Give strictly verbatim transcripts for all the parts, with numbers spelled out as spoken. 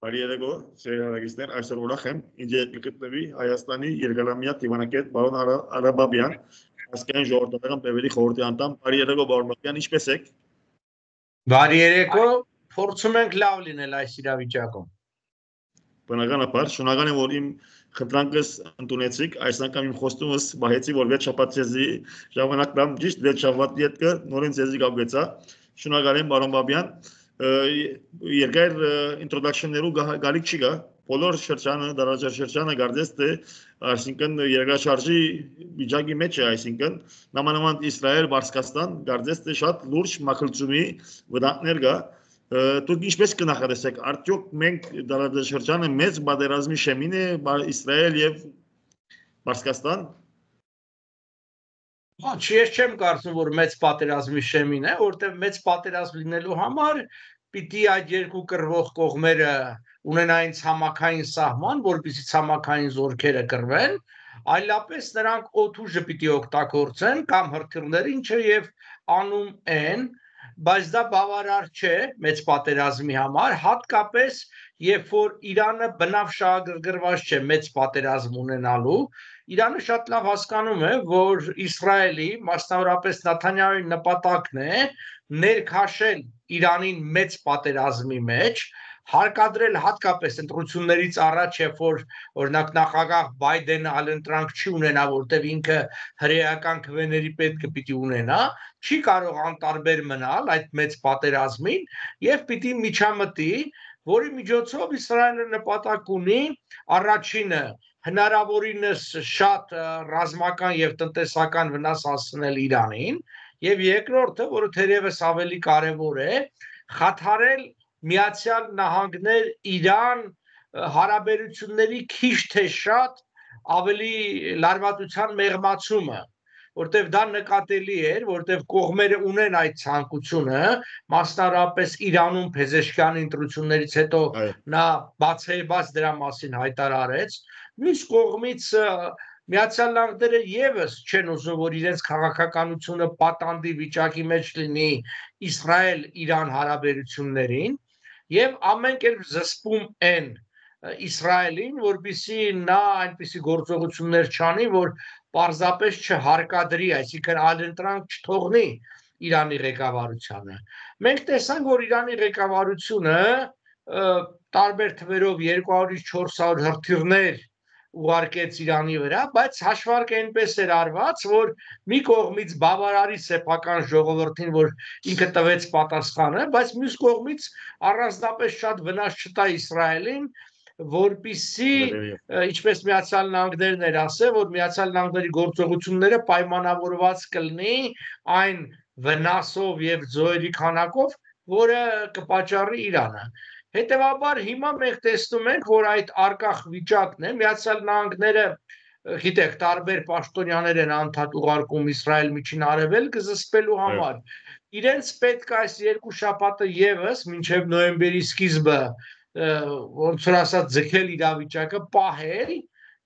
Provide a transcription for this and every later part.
Բարի երեկո, սերահարագիստներ, այսօր ուրախ եմ, ինձ հետ կգտնվի Հայաստանի երկարամյա դիվանագետ պարոն Արաբաբյան, ազգային ժողովրդական բևերի խորհրդի անդամ։ Բարի երեկո, պարոն Բաբյան, ինչպե՞ս եք։ Բարի երեկո, փորձում ենք լավ լինել այս իրավիճակում։ Բնականաբար, շնորհակալ եմ, որ իմ խնդրանքս ընդունեցիք, այս անգամ իմ խոստումս բահեցի, որ վեց շաբաթ ձեզի ժամանակ տամ, ճիշտ վեց շաբաթի հետ նորեն ձեզի կապվեցա։ Շնորհակալ եմ, պարոն Բաբյան։ Երկար ինտրոդակշններու գալիք չի գա, բոլոր շրջանը, դարաճար շրջանը գարդես թե, այսինքն երկրաշարժի վիճակի մեջ է, այսինքն նամանավանդ Իսրայել, Պարսկաստան, գարդես թե շատ լուրջ մաքրությունի վտանգներ կա։ Դուք ինչպես կնախադեսեք, արդյոք մենք դարաճար շրջանը մեծ պատերազմի շեմին է Իսրայել եւ Պարսկաստան։ Հա, ես չեմ կարծում, որ մեծ պատերազմի շեմին է, որտեղ մեծ պատերազմ լինելու համար պիտի այդ երկու կռվող կողմերը ունենային ցամաքային սահման, որպեսզի ցամաքային զորքերը կռվեն, այլապես նրանք օդուժը պիտի օգտագործեն կամ հրթիռները, ինչը եւ անում են, բայց դա բավարար չէ մեծ պատերազմի համար, հատկապես երբ որ Իրանը բնավ շահագրգռված չէ մեծ պատերազմ ունենալու, Իրանը շատ լավ հասկանում է, որ Իսրայելի, մասնավորապես Նեթանյահուի նպատակն է ներքաշել Իրանին մեծ պատերազմի մեջ, հարկադրել հատկապես ընտրություններից առաջ, երբ որ օրինակ նախագահ Բայդենը այլընտրանք չի ունենա, որտեղ ինքը հրեական քվեների պետքը պիտի ունենա, չի կարող անտարբեր մնալ այդ մեծ պատերազմին եւ պիտի միջամտի, որի միջոցով Իսրայելը նպատակ ունի առաջինը հնարավորինս շատ ռազմական եւ տնտեսական վնաս հասցնել Իրանին եւ երկրորդը, որը թերևս ավելի կարեւոր է, խաթարել Միացյալ Նահանգներ Իրան հարաբերությունների քիչ թե շատ ավելի լարվածության մեղմացումը, որտեղ դա նկատելի էր, որտեղ կողմերը ունեն այդ ցանկությունը, մասնավորապես Իրանում Փեզեշքյանի ընտրություններից հետո նա բացեբաց դրա մասին հայտարարեց, մյուս կողմից Միացյալ Նահանգները եւս չեն ուզում, որ իրենց քաղաքականությունը պատանդի վիճակի մեջ լինի Իսրայել-Իրան հարաբերություններին եւ ամեն կերպ զսպում են Իսրայելին, որպեսզի նա այնպիսի գործողություններ չանի, որ պարզապես չհարկադրի, այսինքն այլընտրանք չթողնի Իրանի ղեկավարությանը։ Մենք տեսանք, որ Իրանի ղեկավարությունը տարբեր թվերով երկու հարյուրից չորս հարյուր հրթիռներ ուղարկեց Իրանի վրա, բայց հաշվարկը այնպես էր արված, որ մի կողմից բավարարի սեփական ժողովրդին, որ ինքը տվեց պատասխանը, բայց մյուս կողմից առանձնապես շատ վնաս չտա Իսրայելին, որպեսզի ինչպես Միացյալ Նահանգներն էր ասել, որ Միացյալ Նահանգների գործողությունները պայմանավորված կլինի այն վնասով եւ զոհերի քանակով, որը կպատճառի Իրանը։ Հետևաբար հիմա մենք տեսնում ենք, որ այդ արկախ վիճակն է, Միացյալ Նահանգները, գիտեք, տարբեր պաշտոնյաներ են անդադ ուղարկում Իսրայել միջին արևելքը զսպելու համար։ Իրենց պետք է այս երկու շաբաթը եւս մինչեւ նոյեմբերի սկիզբը, ոնց որ ասած, ձգել իրավիճակը, պահել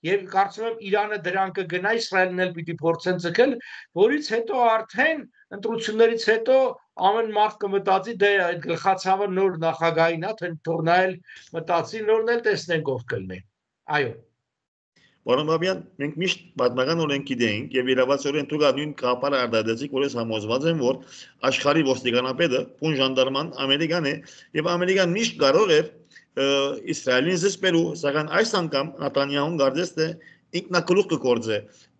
եւ կարծում եմ Իրանը դրան կգնա, Իսրայելն էլ պիտի փորձեն ձգել, որից հետո արդեն ընտրություններից հետո ամեն մարդ կմտածի, դե այդ գլխացավը նոր նախագահին է, թե թողնա էլ մտածի, նորն էլ տեսնենք ով կլինի։ Այո։ Պարոն Բաբյան, մենք միշտ պատմական օրենք գիտենք եւ իրավացիորեն դուք նույն կապարը արտադրեցիք, որ ես համոզված եմ, որ աշխարհի ոստիկանապետը, պուն ժանդարման Ամերիկան է եւ Ամերիկան միշտ կարող է Իսրայելին զսպելու, սակայն այս անգամ Նեթանյահուն գարդես թե ինքնակլուխ կգործե։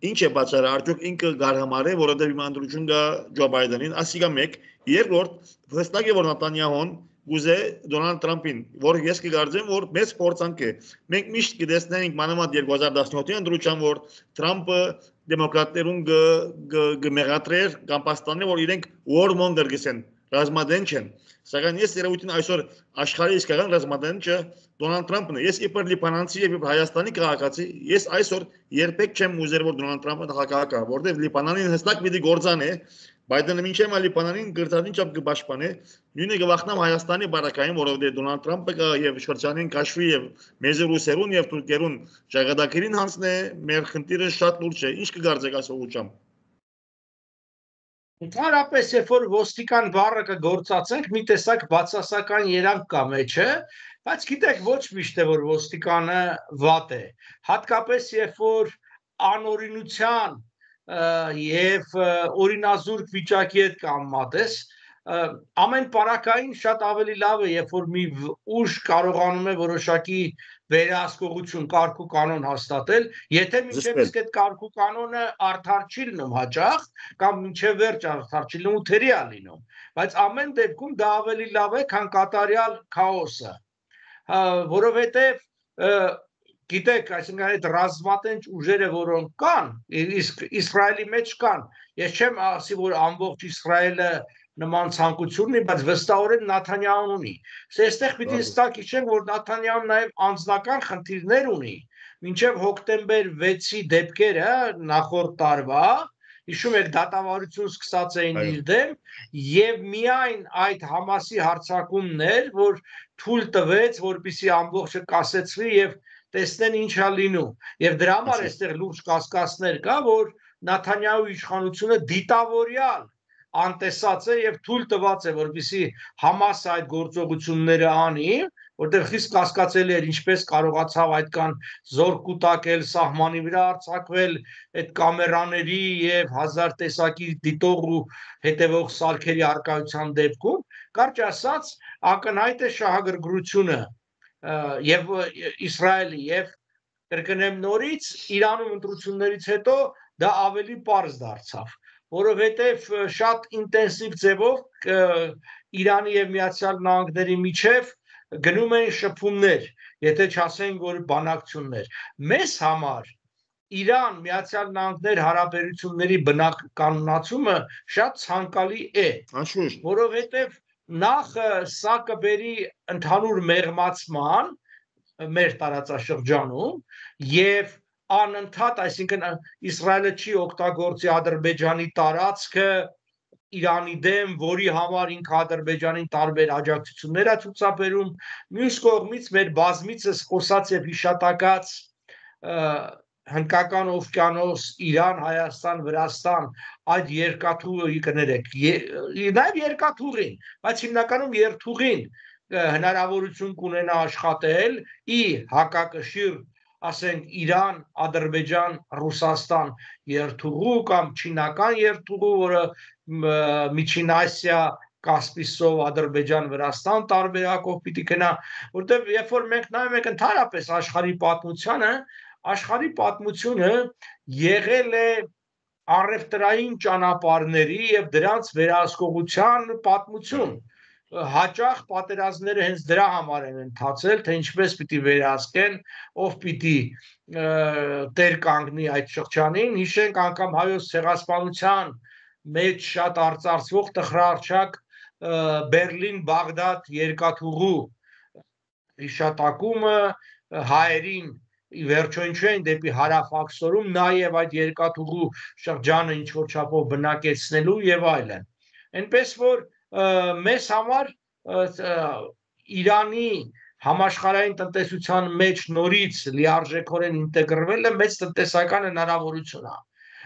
Ինչ է պատճառը, արդյոք ինքը գարհամար է, որովհետեւ իմանալություն կա Ջո Բայդենին, ասիկա մեկ, երկրորդ, վստահ է, որ Նեթանյահուն գուզե Դոնալդ Թրամփին, որ ես կգարձեմ, որ մեծ փորձանք է։ Մենք միշտ կտեսնենք մանավանդ երկու հազար տասնյոթի ընտրության, որ Թրամփը դեմոկրատներուն կմեղադրեր կամ պաստաններ, որ իրենք warmonger գսեն, ռազմադեն չեն։ Սակայն ես երևույթին այսօր աշխարհի իսկական ռազմադենը Դոնալդ Թրամփն է։ Ես իբր լիբանանցի եւ Հայաստանի քաղաքացի, ես այսօր երբեք չեմ ուզեր, որ Դոնալդ Թրամփը նախագահ կա, որտեղ Լիբանանին հստակ պիտի գործանե, Բայդենը մինչև Լիբանանին գրտադին չափ կպաշտպանե, նույնը կվախնամ Հայաստանի բարակային, որովհետեւ Դոնալդ Թրամփը կա եւ շրջանին կաշվի եւ մեծ ռուսերուն եւ թուրքերուն ճակատագրին հանցնե, մեր խնդիրը շատ լուրջ է։ Ինչ կգարձեք այս ուղղությամբ։ Ընդհանրապես, երբ որ ոստիկան բառը կգործածենք, մի տեսակ բացասական երանգ կա մեջը, բայց գիտեք, ոչ միշտ է որ ոստիկանը վատ է։ Հատկապես երբ որ անօրինության եւ օրինազուրկ վիճակի հետ կամմատ ես, ամեն պարակային շատ ավելի լավ է, երբ որ մի ուժ կարողանում է որոշակի վերահսկողություն, կարգ ու կանոն հաստատել, եթե մինչև իսկ այդ կարգ ու կանոնը արդար չի լինում հաճախ, կամ մինչև վերջ արդար չի լինում, թերի է լինում, բայց ամեն դեպքում դա ավելի լավ է, քան կատարյալ քաոսը, որովհետև գիտեք, այսինքն այդ ռազմատենչ ուժերը, որոնք կան, իսկ Իսրայելի մեջ կան, ես չեմ ասի, որ ամբողջ Իսրայելը նման ցանկություն ունի, բայց վստահորեն Նաթանյահուն ունի։ Այստեղ պիտի հստակ հիշենք, որ Նաթանյահուն նաև անձնական խնդիրներ ունի։ Մինչև հոկտեմբեր վեցի դեպքերը նախորդ տարվա, հիշում եք, դատավարություն սկսած էին իր դեմ, եւ միայն այդ Համասի հարձակումներ, որ թույլ տվեց, որպեսզի ամբողջը կասեցվի եւ տեսնեն ինչ է լինում։ Եվ դրա համար այստեղ լուրջ կասկածներ կա, որ Նաթանյահուի իշխանությունը դիտավորյալ անտեսած է եւ թույլ տված է, որպեսզի Համասը այդ գործողությունները անի, որտեղ խիստ կասկածելի էր ինչպես կարողացավ այդքան զոր կուտակել, սահմանի վրա արձակվել այդ կամերաների եւ հազար տեսակի դիտող ու հետևող սարքերի արկայության դեպքում, կարճ ասած, ակնհայտ է շահագրգռությունը եւ Իսրայելի եւ կրկնեմ նորից Իրանում ընտրություններից հետո դա ավելի պարզ դարձավ, որովհետև շատ ինտենսիվ ձևով Իրանի եւ Միացյալ Նահանգների միջև գնում են շփումներ, եթե չասենք, որ բանակցություններ։ Մեզ համար Իրան Միացյալ Նահանգներ հարաբերությունների բնականոնացումը շատ ցանկալի է, որովհետև նախ սա կբերի ընդհանուր մեղմացման մեր տարածաշրջանում եւ անընդհատ, այսինքն Իսրայելը չի օգտագործի Ադրբեջանի տարածքը Իրանի դեմ, որի համար ինքը Ադրբեջանին տարբեր աջակցություններ է ցուցաբերում, մյուս կողմից մեր բազմիցս խոսած եւ հիշատակած Հնդկական օվկիանոս, Իրան, Հայաստան, Վրաստան, այդ երկաթուղի կներեք, նաեւ երկաթուղին, բայց հիմնականում երթուղին հնարավորություն կունենա աշխատել ի հակակշիռ, ասենք Իրան, Ադրբեջան, Ռուսաստան երթուղու կամ չինական երթուղու, որը Միջին Ասիա, Կասպիցով Ադրբեջան, Վրաստան տարբերակով պիտի գնա, որտեղ երբ որ մենք նայում ենք ընդհանրապես աշխարհի պատմությանը, աշխարհի պատմությունը եղել է առևտրային ճանապարհների եւ դրանց վերահսկողության պատմություն։ Հաճախ պատերազմները հենց դրա համար են ընթացել, թե ինչպես պիտի վերահսկեն, ով պիտի տեր կանգնի այդ շրջանին, հիշենք անգամ հայոց ցեղասպանության մեջ շատ արծարծվող տխրահարճակ Բերլին-Բաղդադ երկաթուղու հիշատակումը հայերին վերջո ինչու են դեպի հարավ-աքսորում նաև այդ երկաթուղու շրջանը ինչ-որ չափով բնակեցնելու եւ այլն։ Այնպես որ մեզ համար Իրանի համաշխարհային տնտեսության մեջ նորից լիարժեքորեն ինտեգրվելը մեծ տնտեսական հնարավորություն է։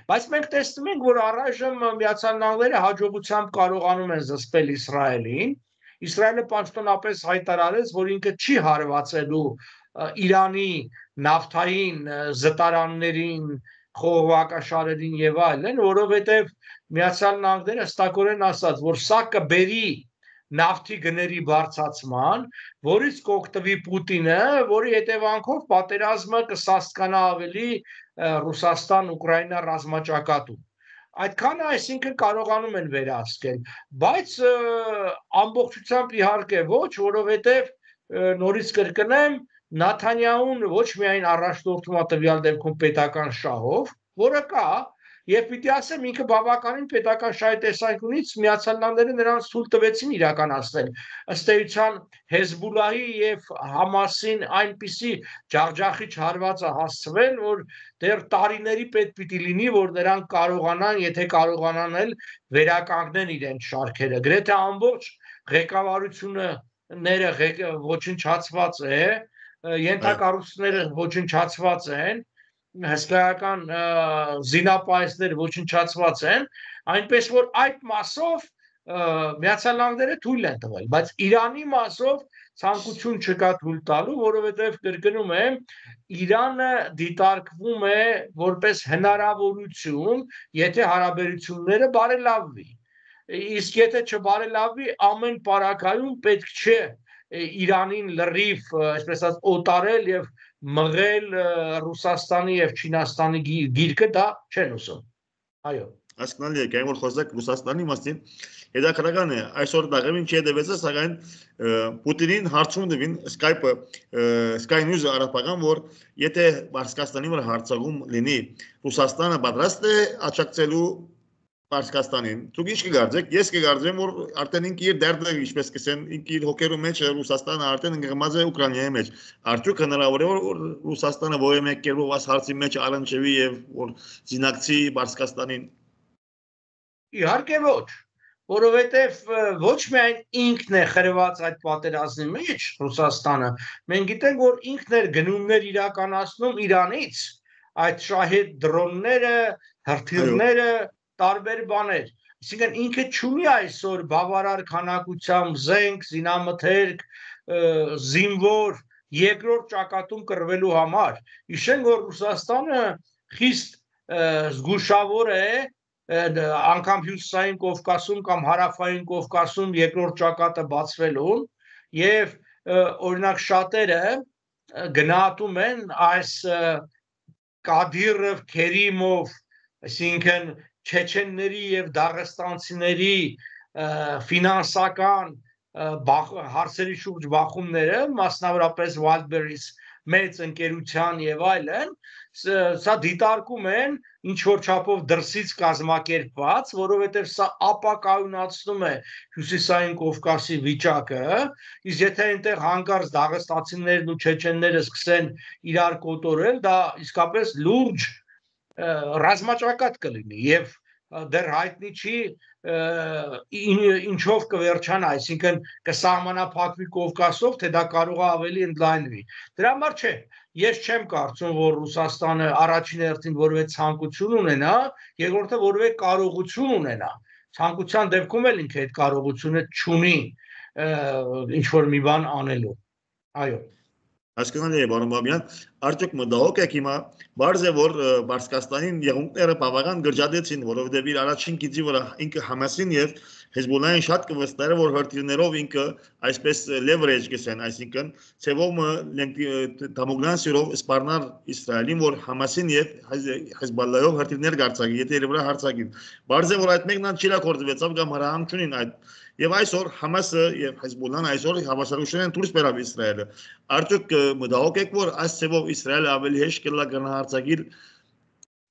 Բայց մենք տեսնում ենք, որ առայժմ Միացյալ Նահանգները հաջողությամբ կարողանում են զսպել Իսրայելին։ Իսրայելը պաշտոնապես հայտարարեց, որ ինքը չի հարվածելու Իրանի նավթային զտարաններին, խողովակաշարերին եւ այլն, որովհետեւ Միացյալ Նահանգները հստակորեն ասաց, որ սա կբերի նավթի գների բարձրացման, որից կօգտվի Պուտինը, որի հետևանքով պատերազմը կսաստկանա ավելի Ռուսաստան-Ուկրաինա ռազմաճակատում։ Այդքանը այսինքն կարողանում են վերահսկել, բայց ամբողջությամբ իհարկե ոչ, որովհետեւ նորից կրկնեմ, Նաթանյահուն ոչ միայն առաջնորդում է տվյալ դեպքում պետական շահով, որը կա, եւ պիտի ասեմ ինքը բավականին պետական շահի տեսանկյունից Միացյալ Նահանգները նրանց թույլ տվեցին իրականացնել։ Ըստ էության Հեզբոլլահի եւ Համասին այնպիսի ջախջախիչ հարված է հասցվել, որ դեռ տարիների պետք պիտի լինի, որ նրանք կարողանան, եթե կարողանան էլ վերականգնեն իրենց շարքերը։ Գրեթե ամբողջ ղեկավարությունը ները ոչնչացված է, ենթակառույցները ոչնչացված են, հսկայական զինապայեսները ոչնչացված են, Այնպես որ այդ մասով Միացյալ Նահանգները թույլ են տվել, բայց Իրանի մասով ցանկություն չկա թույլ տալու, որովհետև կրկնում եմ, Իրանը դիտարկվում է որպես հնարավորություն, եթե հարաբերությունները բարելավվի։ Իսկ եթե չբարելավվի, ամեն պարագայում պետք չէ Իրանին լրիվ, այսպես ասած, օտարել եւ մղել Ռուսաստանի եւ Չինաստանի գիրկը, դա չեն ուզում։ Այո։ Հասկանալի է, կային որ խոսակ Ռուսաստանի մասին, հետաքրքրական է, այսօր դաղեմին չի հետևեցը, սակայն Պուտինին հարցում տվին Skype-ը, Sky News-ը արաբական, որ եթե Պարսկաստանի վրա հարցակում լինի, Ռուսաստանը պատրաստ է աջակցելու Պարսկաստանին, դուք ինչ կգարձեք, ես կգարձեմ, որ արդեն ինքը իր դերձը, ինչպես կսեն, ինքը իր հոգերու մեջ Ռուսաստանը արդեն ընկղմած է Ուկրաինայի մեջ, արդյոք հնարավոր է, որ Ռուսաստանը որևէ մեկ կերպով այս հարցի մեջ առնչվի եւ որ զինակցի Պարսկաստանին։ Իհարկե ոչ, որովհետև ոչ միայն ինքն է խրված այդ պատերազմի մեջ Ռուսաստանը, մենք գիտենք, որ ինքն էր գնումներ իրականացնում Իրանից, այդ շահեդ դրոնները, հրթիռները, տարբեր բաներ, այսինքն ինքը չունի այսօր բավարար քանակությամբ զենք, զինամթերք, զինվոր, երկրորդ ճակատում կռվելու համար։ Հիշենք, որ Ռուսաստանը խիստ զգուշավոր է անգամ հյուսիսային Կովկասում կամ հարավային Կովկասում երկրորդ ճակատը բացվելուն եւ օրինակ շատերը գնահատում են այս Կադիրով, Քերիմով, այսինքն չեչենների եւ դաղստանցիների ֆինանսական հարցերի շուրջ բախումները, մասնավորապես Wildberries մեծ ընկերության եւ այլն, սա դիտարկում են ինչ որ չափով դրսից կազմակերպված, որովհետեւ սա ապակայունացնում է հյուսիսային Կովկասի վիճակը, իսկ եթե այնտեղ հանկարծ դաղստացիներն ու չեչենները սկսեն իրար կոտորել, դա իսկապես լուրջ ռազմաճակատ կլինի եւ դեռ հայտնի չի ինչով կվերջանա, այսինքն կսահմանափակվի Կովկասով, թե դա կարող է ավելի ընդլայնվի։ Դրա համար չէ, ես չեմ կարծում, որ Ռուսաստանը առաջին հերթին որևէ ցանկություն ունենա, երկրորդը որևէ կարողություն ունենա։ Ցանկության դեպքում էլ ինքը այդ կարողությունը չունի ինչ որ մի բան անելու։ Այո։ Հասկանալի է, պարոն Բաբյան, արդյոք մտահոգ եք հիմա, բարձ է, որ Պարսկաստանին եղունքները բավական գրջադեցին, որովհետև իր առաջին գիծի վրա ինքը Համասին եւ Հեզբոլլահին շատ կվստահը, որ հրթիռներով ինքը այսպես leverage կսեն, այսինքն ցևով դամոկլյան սիրով սպառնալ Իսրայելին, որ Համասին եւ Հեզբոլլահով հրթիռներ գարցակի, եթե իր վրա հարձակին։ Բարձ է, որ այդ մեկն չիրակորձվեցավ կամ հրահանգ չունին այդ Եվ այսօր Համասը եւ Հեզբոլլահն այսօր հավասարություն են դուրս բերավ Իսրայելը։ Արդյոք մտահոգ եք, որ այս ցեվով Իսրայելը ավելի հեշտ կլա գնահարցակիլ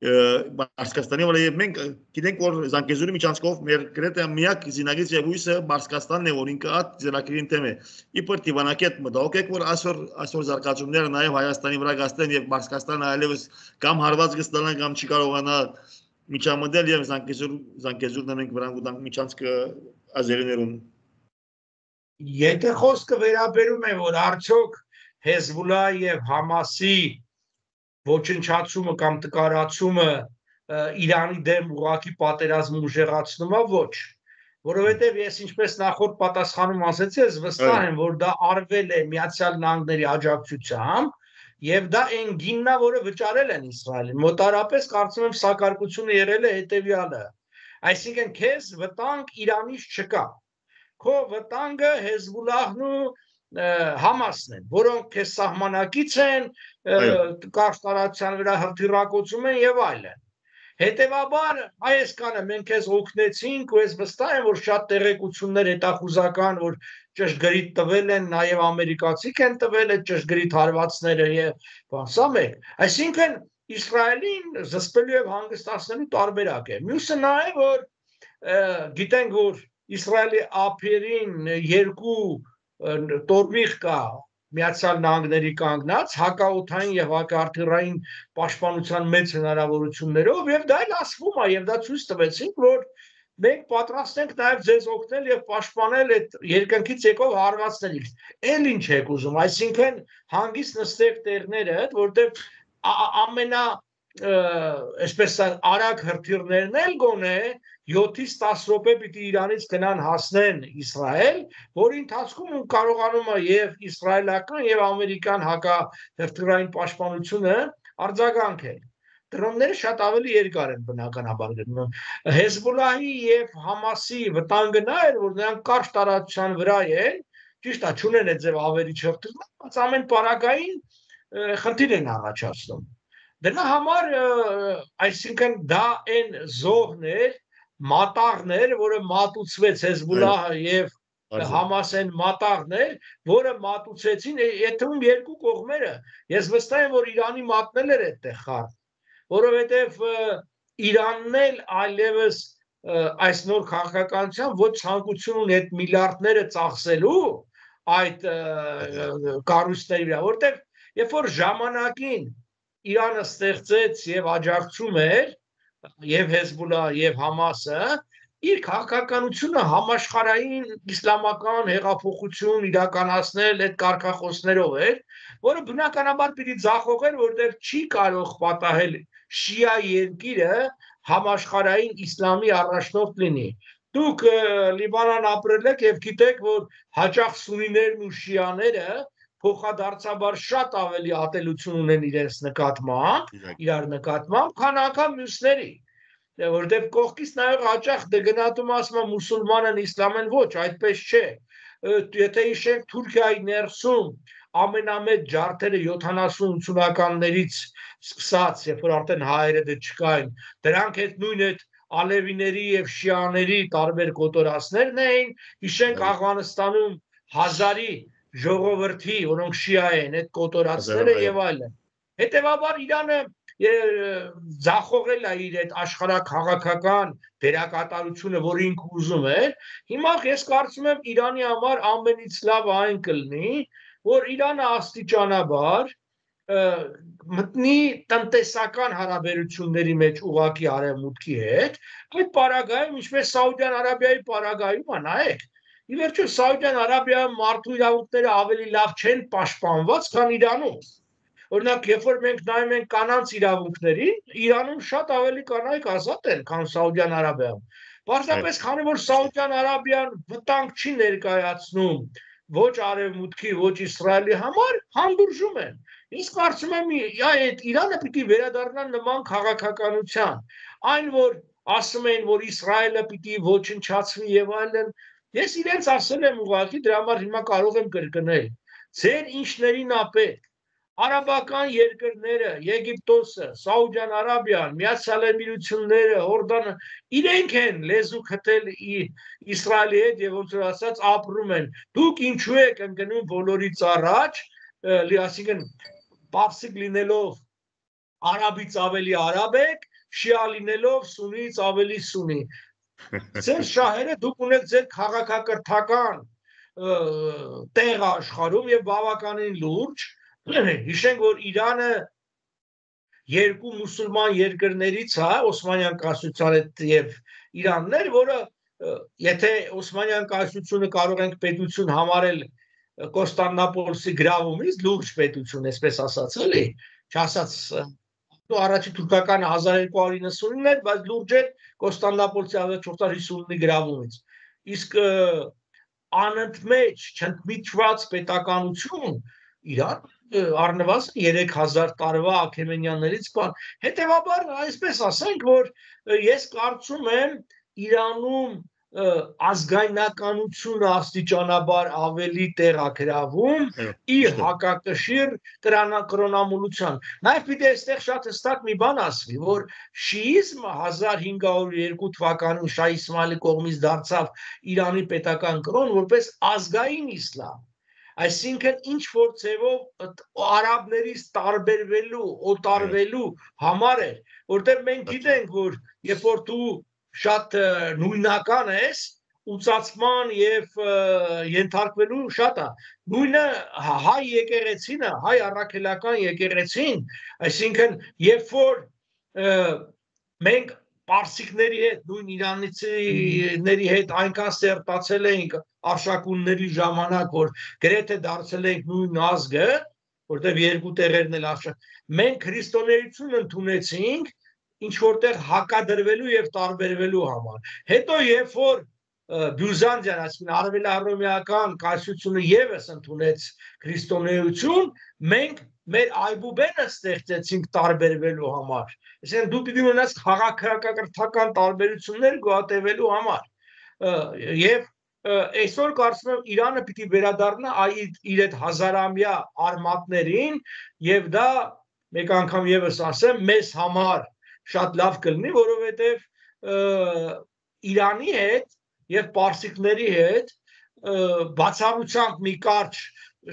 Պարսկաստանի վրա եւ մենք գիտենք, որ Զանգեզուրի միջանցքով մեր գրեթե միակ զինագիծ եւ հույսը Պարսկաստանն է, որ ինքը այդ ծրագրին թեմ է։ Իբր Տիվանակետ մտահոգ եք, որ այսօր այսօր զարգացումները նաեւ Հայաստանի վրա գաստեն եւ Պարսկաստանը այլևս կամ հարված կստանան կամ չի կարողանա միջամտել եւ Զանգեզուր Զանգեզուրն մենք վրան գտանք միջանցքը ազերիներուն։ Եթե խոսքը վերաբերում է, որ արդյոք Հեզբոլլահ եւ Համասի ոչնչացումը կամ տկարացումը Իրանի դեմ ուղղակի պատերազմ ուժեղացնում է, ոչ, որովհետեւ ես ինչպես նախորդ պատասխանում ասեցի, ես վստահ եմ, որ դա արվել է Միացյալ Նահանգների աջակցությամբ եւ դա այն գինն է, որը վճարել են Իսրայելին։ Մոտարապես կարծում եմ սակարկությունը եղել է հետեւյալը։ Այսինքն քեզ վտանգ Իրանից չկա։ Քո վտանգը Հեզբոլլահն ու Համասն են, որոնք քեզ սահմանակից են, կարճ տարածության վրա հրթիռակոծում են եւ այլն։ Հետևաբար Հայաստանը մենք քեզ օգնեցինք ու ես վստահ եմ, որ շատ տեղեկություններ հետախուզական, որ ճշգրիտ տվել են, նաեւ ամերիկացիք են տվել այդ ճշգրիտ հարվածները եւ բան, սա մեկ։ Այսինքն Իսրայելին զսպելու եւ հանգստացնելու տարբերակ է։ Մյուսը նա է, որ գիտենք, որ Իսրայելի ափերին երկու տորմիղ կա Միացյալ Նահանգների կանգնած հակաօդային եւ հակահրթիռային պաշտպանության մեծ հնարավորություններով եւ դա էլ ասվում է եւ դա ցույց տվեցինք, որ մենք պատրաստ ենք նաեւ ձեզ օգնել եւ պաշտպանել այդ երկնքից եկող հարվածներից։ Էլ ինչ եք ուզում, այսինքն հանգիստ նստեք տեղները, որտեղ ամենա այսպես արագ հրթիռներն էլ գոնե յոթից տասը րոպե պիտի Իրանից գնան հասնեն Իսրայել, որի ընթացքում կարողանում է եւ իսրայելական եւ ամերիկյան հակահրթիռային պաշտպանությունը արձագանքել։ Դրոնները շատ ավելի երկար են բնականաբար գնում։ Հեզբոլլահի եւ Համասի վտանգը նա էր, որ նրանք կարճ տարածության վրա են, ճիշտ է, չունեն այդ ձև ավերիչ հրթիռներ, բայց ամեն պարագային խնդիր են առաջացնում։ Դրա համար, այսինքն դա այն զոհն էր, մատաղն էր, որը մատուցվեց Հեզբոլլահը եւ Համասեն մատաղն էր, որը մատուցեցին եթում երկու կողմերը։ Ես վստահ եմ, որ Իրանի մատնել էր այդտեղ խառը, որովհետեւ Իրանն էլ այլևս այս նոր քաղաքականության ոչ ցանկություն ունի այդ միլիարդները ծախսելու այդ կառույցների վրա, որտեղ երբ որ ժամանակին Իրանը ստեղծեց եւ աջակցում էր եւ Հեզբոլլահը եւ Համասը, իր քաղաքականությունը համաշխարհային իսլամական հեղափոխություն իրականացնել այդ կարգախոսներով էր, որը բնականաբար պիտի ձախողեր, որտեղ չի կարող պատահել շիա երկիրը համաշխարհային իսլամի առաջնորդ լինի։ Դուք Լիբանան ապրել եք եւ գիտեք, որ հաճախ սունիներն ու շիաները փոխադարձաբար շատ ավելի ատելություն ունեն իրենց նկատմամբ, իրար նկատմամբ, քան անգամ մյուսների, որտեղ կողքից նայող հաճախ դգնատում ասում է մուսուլմանն իսլամեն, ոչ, այդպես չէ։ Եթե հիշենք Թուրքիայի ներսում ամենամեծ ջարդերը յոթանասուն ութսունականներից սկսած, երբ որ արդեն հայերը դե չկային, դրանք այդ նույն այդ ալևիների եւ շիաների տարբեր կոտորածներն էին, հիշենք Աֆղանստանում հազարի ժողովրդի, որոնք շիա են, այդ կոտորածները եւ այլն։ Հետևաբար Իրանը ձախողել է իր այդ աշխարհաքաղաքական դերակատարությունը, որ ինքը ուզում էր։ Հիմա ես կարծում եմ Իրանի համար ամենից լավ այն կլինի, որ Իրանը աստիճանաբար մտնի տնտեսական հարաբերությունների մեջ ուղղակի արևմուտքի հետ, այդ պարագայում, ինչպես Սաուդյան Արաբիայի պարագայում է, նայեք, ի վերջո Սաուդյան Արաբիայում մարդու իրավունքները ավելի լավ չեն պաշտպանված, քան Իրանում։ Օրինակ, երբ որ մենք նայում ենք կանանց իրավունքներին, Իրանում շատ ավելի կանայք ազատ են, քան Սաուդյան Արաբիայում։ Պարզապես քանի որ Սաուդյան Արաբիան վտանգ չի ներկայացնում ոչ արևմուտքի, ոչ Իսրայելի համար, հանդուրժում են։ Իսկ կարծում եմ, այդ Իրանը պիտի վերադառնա նման քաղաքականության, այն որ ասում են, որ Իսրայելը պիտի ոչնչացվի եւ այլն, ես իրենց ասել եմ ուղղակի, դրա համար հիմա կարող եմ կրկնել։ Ձեր ինչներին ա պետք։ Արաբական երկրները, Եգիպտոսը, Սաուդյան Արաբիան, Միացյալ Էմիրությունները, Հորդանը, իրենք են լեզու քթել Իսրայելի հետ եւ ոնց որ ասած ապրում են։ Դուք ինչու եք ընկնում բոլորից առաջ, այսինքն պարսիկ լինելով արաբից ավելի արաբ եք, շիա լինելով սունից ավելի սունի։ Ձեր շահերը դուք ունեք ձեր քաղաքակրթական տեղը աշխարհում եւ բավականին լուրջ։ Հիշենք, որ Իրանը երկու մուսուլման երկրներից է, Օսմանյան կայսրության հետ եւ Իրանն էր, որը եթե Օսմանյան կայսրությունը կարող ենք պետություն համարել Կոստանդնուպոլսի գրավումից, լուրջ պետություն, այսպես ասած, էլի, չասած առաջի թուրքական հազար երկու հարյուր նվաթ էր, բայց լուրջ էր Կոստանդնուպոլսի հազար չորս հարյուր հիսունինի գրավումից։ Իսկ անընդմեջ չընդմիջված պետականություն Իրան առնվազն երեք հազար տարվա Աքեմենյաններից բան։ Հետևաբար, այսպես ասենք, որ ես կարծում եմ Իրանում ազգայնականությունը աստիճանաբար ավելի տեղագրավում իր հակակշիռ կրոնամոլության։ Նաև պիտի այստեղ շատ հստակ մի բան ասվի, որ շիիզմը հազար հինգ հարյուր երկու թվականին Շահ Իսմայիլի կողմից դարձավ Իրանի պետական կրոն որպես ազգային իսլամ։ Այսինքն ինչ որ ձևով արաբներից տարբերվելու, օտարվելու համար էր, որտեղ մենք գիտենք, որ երբ որ դու շատ նույնական ես, ուծացման եւ ենթարկվելու շատ է։ Նույնը հայ եկեղեցին, հայ առաքելական եկեղեցին, այսինքն երբ որ մենք պարսիկների հետ, նույն իրանցիների հետ այնքան սերտացել էինք արշակունների ժամանակ, որ գրեթե դարձել ենք նույն ազգը, որտեղ երկու տեղերն էլ արշակ, մենք քրիստոնեություն ընդունեցինք ինչ որտեղ հակադրվելու եւ տարբերվելու համար։ Հետո երբ որ Բյուզանդիան, այսինքն արևելահռոմեական կայսրությունը եւս ընդունեց քրիստոնեություն, մենք մեր այբուբենը ստեղծեցինք տարբերվելու համար։ Այսինքն դու պիտի ունենաս քաղաքակրթական տարբերություններ գոհատևելու համար։ Եվ այսօր կարծում եմ Իրանը պիտի վերադառնա իր այդ հազարամյա արմատներին, եւ դա մեկ անգամ եւս ասեմ, մեզ համար շատ լավ կլինի, որովհետեւ Իրանի հետ եւ պարսիկների հետ բացառությամբ մի կարճ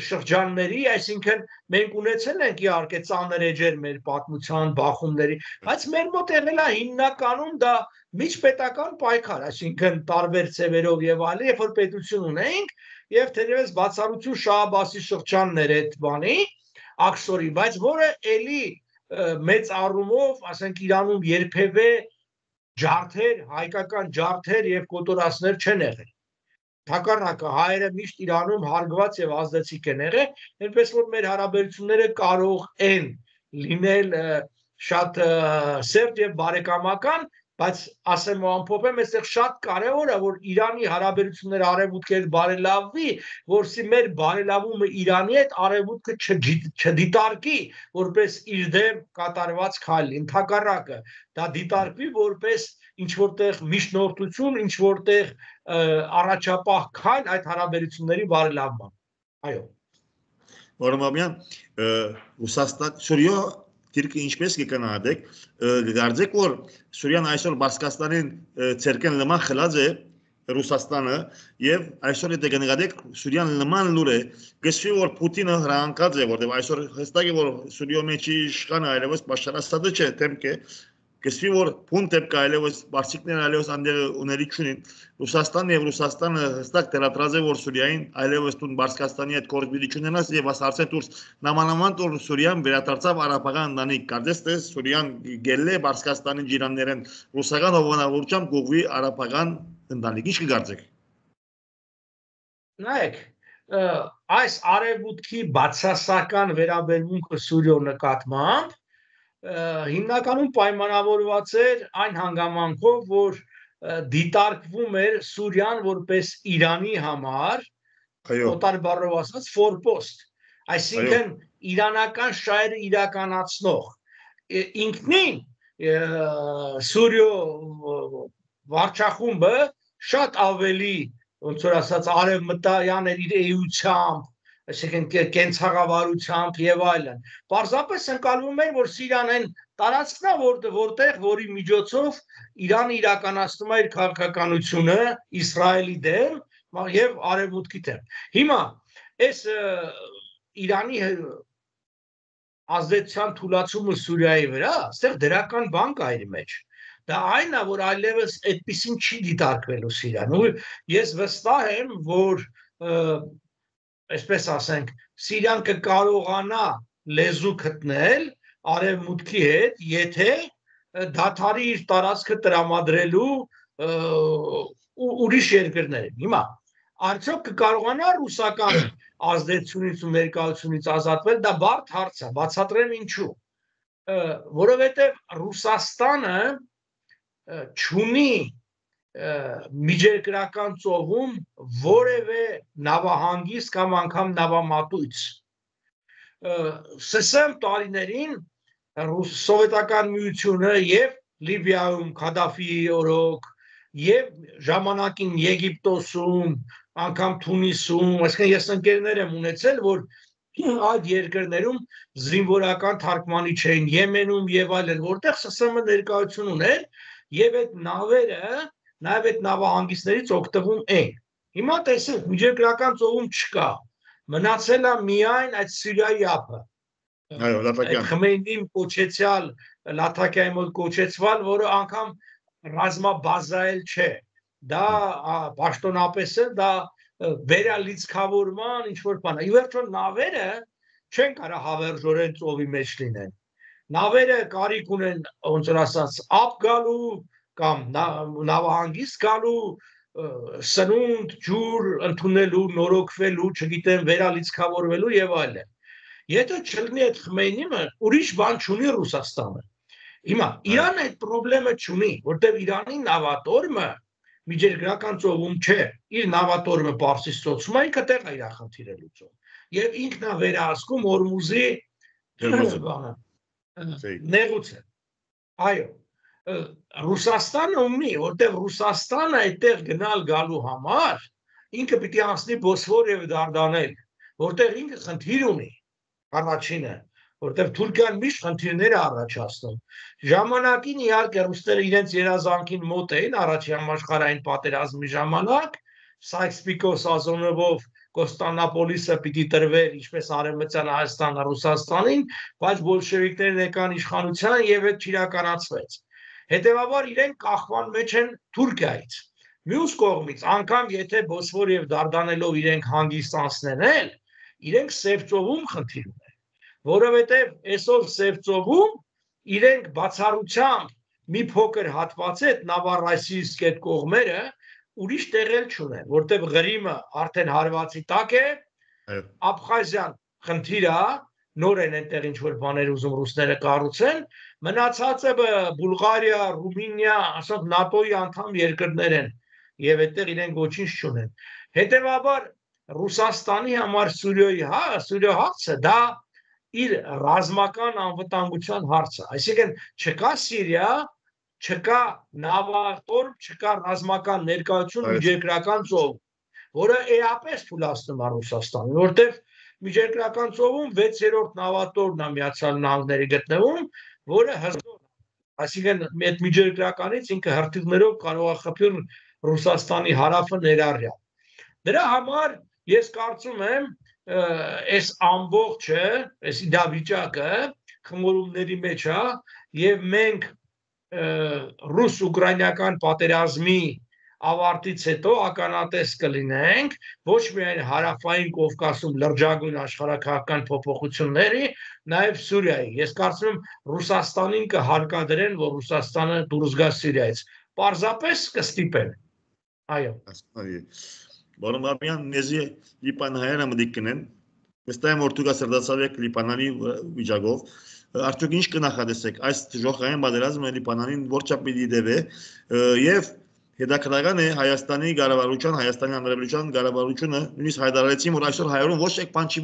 շրջանների, այսինքն մենք ունեցել ենք իհարկե ծանր էջեր մեր պատմության բախումների, բայց մեր մոտ եղել է հիմնականում դա միջպետական պայքար, այսինքն տարբեր ծևերով եւ այլն, երբ որ պետություն ունեինք եւ թերևս բացառություն Շահ Աբբասի շրջանն էր այդ բանի աքսորի, բայց որը էլի մեծ առումով, ասենք Իրանում երբևէ ջարդեր, հայկական ջարդեր եւ կոտորածներ չեն եղել։ Թակառնակը հայերը միշտ Իրանում հարգված եւ ազդեցիկ են եղել, այնպես որ մեր հարաբերությունները կարող են լինել շատ սերտ եւ բարեկամական, բայց ասեմ ու ամփոփեմ, այստեղ շատ կարեւոր է, որ Իրանի հարաբերությունները արևմուտքի հետ բարելավվի, որովհետեւ մեր բարելավումը Իրանի հետ արևմուտքը չդիտարկի որպես իր դեմ կատարված քայլ, ընդհակառակը դա դիտարկվի որպես ինչ որտեղ միջնորդություն, ինչ որտեղ առաջապահ քայլ այդ հարաբերությունների բարելավման։ Այո։ Որոմաբյան Ռուսաստան Սուրիա Դիրքը ինչպես կգնահատեք, գարձեք որ Սուրիան այսօր Բասկաստանին ցերկեն նման խլած է Ռուսաստանը եւ այսօր եթե գնահատեք Սուրիան նման լուր է, գսվի որ Պուտինը հրանկած է, որտեղ այսօր հստակ է որ Սուրիո մեջի իշխանը այլևս Բաշար Ասադը չէ, թեմք է, գսվի որ փունտ է կայլևս Բարսիկներն այլևս անդեր ուների չունին, Ռուսաստանն եւ Ռուսաստանը հստակ դերատրած է որ Սուրիային այլևս տուն Բասկաստանի հետ կորզբիլի չունենաս եւ ասարցեն դուրս նամանավանդ որ Սուրիան վերադարձավ արաբական ընտանիք, կարծես թե Սուրիան գելե Բասկաստանի ջիրաններեն ռուսական հովանավորությամբ գողվի արաբական ընտանիք, ինչ կգործեք։ Նայեք, այս արևմուտքի բացասական վերաբերմունքը Սուրիո նկատմամբ հիմնականում պայմանավորված էր այն հանգամանքով, որ դիտարկվում էր Սուրիան որպես Իրանի համար, օտար բառով ասած, ֆորպոստ, այսինքն իրանական շահերը իրականացնող, ինքնին Սուրիո վարչախումբը շատ ավելի, ոնց որ ասած, արևմտյան էր իր էությամբ, այսինքն կենցաղավարությամբ եւ այլն։ Պարզապես ընկալվում էր, որ Սիրիան այն տարածքն է, որտեղ որի միջոցով Իրանը իրականացնում է իր քաղաքականությունը Իսրայելի դեմ եւ արևմուտքի դեմ։ Հիմա այս Իրանի ազդեցության թուլացումը Սուրիայի վրա, այստեղ դրական բան կա իր մեջ։ Դա այն է, որ այլևս այդպեսին չի դիտարկվելու Սիրիան։ Ու ես վստահ եմ, որ այսպես ասենք, Սիրիան կկարողանա լեզու գտնել արևմուտքի հետ, եթե դադարի իր տարածքը տրամադրելու ուրիշ երկրներին։ Հիմա արդյոք կկարողանա ռուսական ազդեցությունից ու ներկայությունից ազատվել, դա բարդ հարց է, բացատրեմ ինչու։ Որովհետև Ռուսաստանը չունի միջերկրական ծովում որևէ նավահանգիստ կամ անգամ նավամատույց։ Սսեմ տարիներին Սովետական միությունը եւ Լիբիայում Քադաֆիի օրոք եւ ժամանակին Եգիպտոսում, անգամ Թունիսում, այսինքն ես ընկերներ եմ ունեցել, որ այդ երկրներում զինվորական թարգմանիչ էին, Եմենում եւ այլն, որտեղ ՍՍՄ ներկայություն ուներ եւ այդ նավերը նաև այդ նավահանգիստներից օգտվում են։ Հիմա տեսեք, միջերկրական ծովում չկա, մնացել է միայն այդ Սիրիայի ափը։ Այո, Լատակյան։ Խմեյնին կոչեցյալ, Լատակյանի մոտ կոչեցվալ, որը անգամ ռազմաբազայել չէ։ Դա պաշտոնապես է, դա վերալիցքավորման ինչ-որ բան է։ Ի վերջո նավերը չեն կարող հավերժորեն ծովի մեջ լինեն։ Նավերը կարիք ունեն, ոնց որ ասած, ափ գալու կամ նավահանգիստ գալու, սնունդ, ջուր ընդունելու, նորոգվելու, չգիտեմ, վերալիցքավորվելու եւ այլն։ Եթե չլինի այդ Խմեյնիմը, ուրիշ բան չունի Ռուսաստանը։ Հիմա Իրանը այդ խնդրեմը չունի, որտեղ Իրանի նավատորմը միջերկրական ծովում չէ, իր նավատորմը Պարսից ծոցում է, ինքը տեղ է իր խնդիրը լուծում։ Եվ ինքն է վերահսկում Հորմուզի բանը, նեղուցը։ Այո, Ռուսաստանը ունի, որտեղ Ռուսաստանը այդտեղ գնալ գալու համար ինքը պիտի անցնի Բոսֆոր եւ Դարդանել, որտեղ ինքը խնդիր ունի, առաջինը, որտեղ Թուրքիան միշտ խնդիրներ է առաջացնում։ Ժամանակին իհարկե ռուսները իրենց երազանքին մոտ էին առաջին համաշխարհային պատերազմի ժամանակ, Սայքս-Պիկո Սազոնովով Կոստանդնուպոլիսը պիտի տրվեր ինչպես Արևմտյան Հայաստանը Ռուսաստանին, բայց բոլշևիկներն եկան իշխանության եւ այդ չիրականացվեց։ Հետևաբար իրենք կախման մեջ են Թուրքիայից։ Մյուս կողմից, անգամ եթե Բոսֆոր եւ Դարդանելով իրենք հանգիստանցնեն էլ, իրենք Սևծովում խնդիր ունեն, որովհետեւ այսօր Սևծովում իրենք բացառությամբ մի փոքր հատված այդ Նավառասիիսկ այդ կողմերը ուրիշ տեղել չունեն, որտեղ Ղրիմը արդեն հարվածի տակ է, Աբխազիան խնդիր է, նոր են այնտեղ ինչ որ բաներ ուզում ռուսները կառուցեն, մնացածը Բուլղարիա, Ռումինիա, ասենք ՆԱՏՕ-ի անդամ երկրներ են եւ այդտեղ իրենք ոչինչ չունեն։ Հետևաբար Ռուսաստանի համար Սուրիայի հա, Սուրիա հարցը դա իր ռազմական անվտանգության հարցը, այսինքն չկա Սիրիա, չկա նավատորմ, չկա ռազմական ներկայություն միջերկրական ծով, որը էապես թույլատնում է Ռուսաստանին, որտեղ միջերկրական ծովում վեցերորդ նավատորմն է Միացյալ Նահանգների գտնվում, որը հզոր, այսինքն այդ միջերկրականից ինքը հրթիռներով կարող է խփել Ռուսաստանի հարավը ներառյալ։ Դրա համար ես կարծում եմ այս ամբողջը, այս իրավիճակը խմորումների մեջ է եւ մենք ռուս-ուկրաինական պատերազմի ավարտից հետո ականատես կլինենք ոչ միայն հարավային Կովկասում լրջագույն աշխարհաքաղաքական փոփոխությունների, նաև Սուրիայի։ Ես կարծում եմ Ռուսաստանին կհարկադրեն, որ Ռուսաստանը դուրս գա Սիրիայից։ Պարզապես կստիպեն։ Այո։ Որը մաբյան նեզի լիպանհայերը մդիկ կնեն, վստահ եմ որ դուք ասրդացավ եք լիպանանի վիճակով, արդյոք ինչ կնախադեսեք այս ժողովրդային պատերազմը լիպանանին որչափ պիտի դեպե եւ հետաքրքրական է Հայաստանի կառավարության, Հայաստանի Հանրապետության կառավարությունը նույնիսկ հայտարարեցին, որ այսօր հայերեն ոչ մեկ բան չի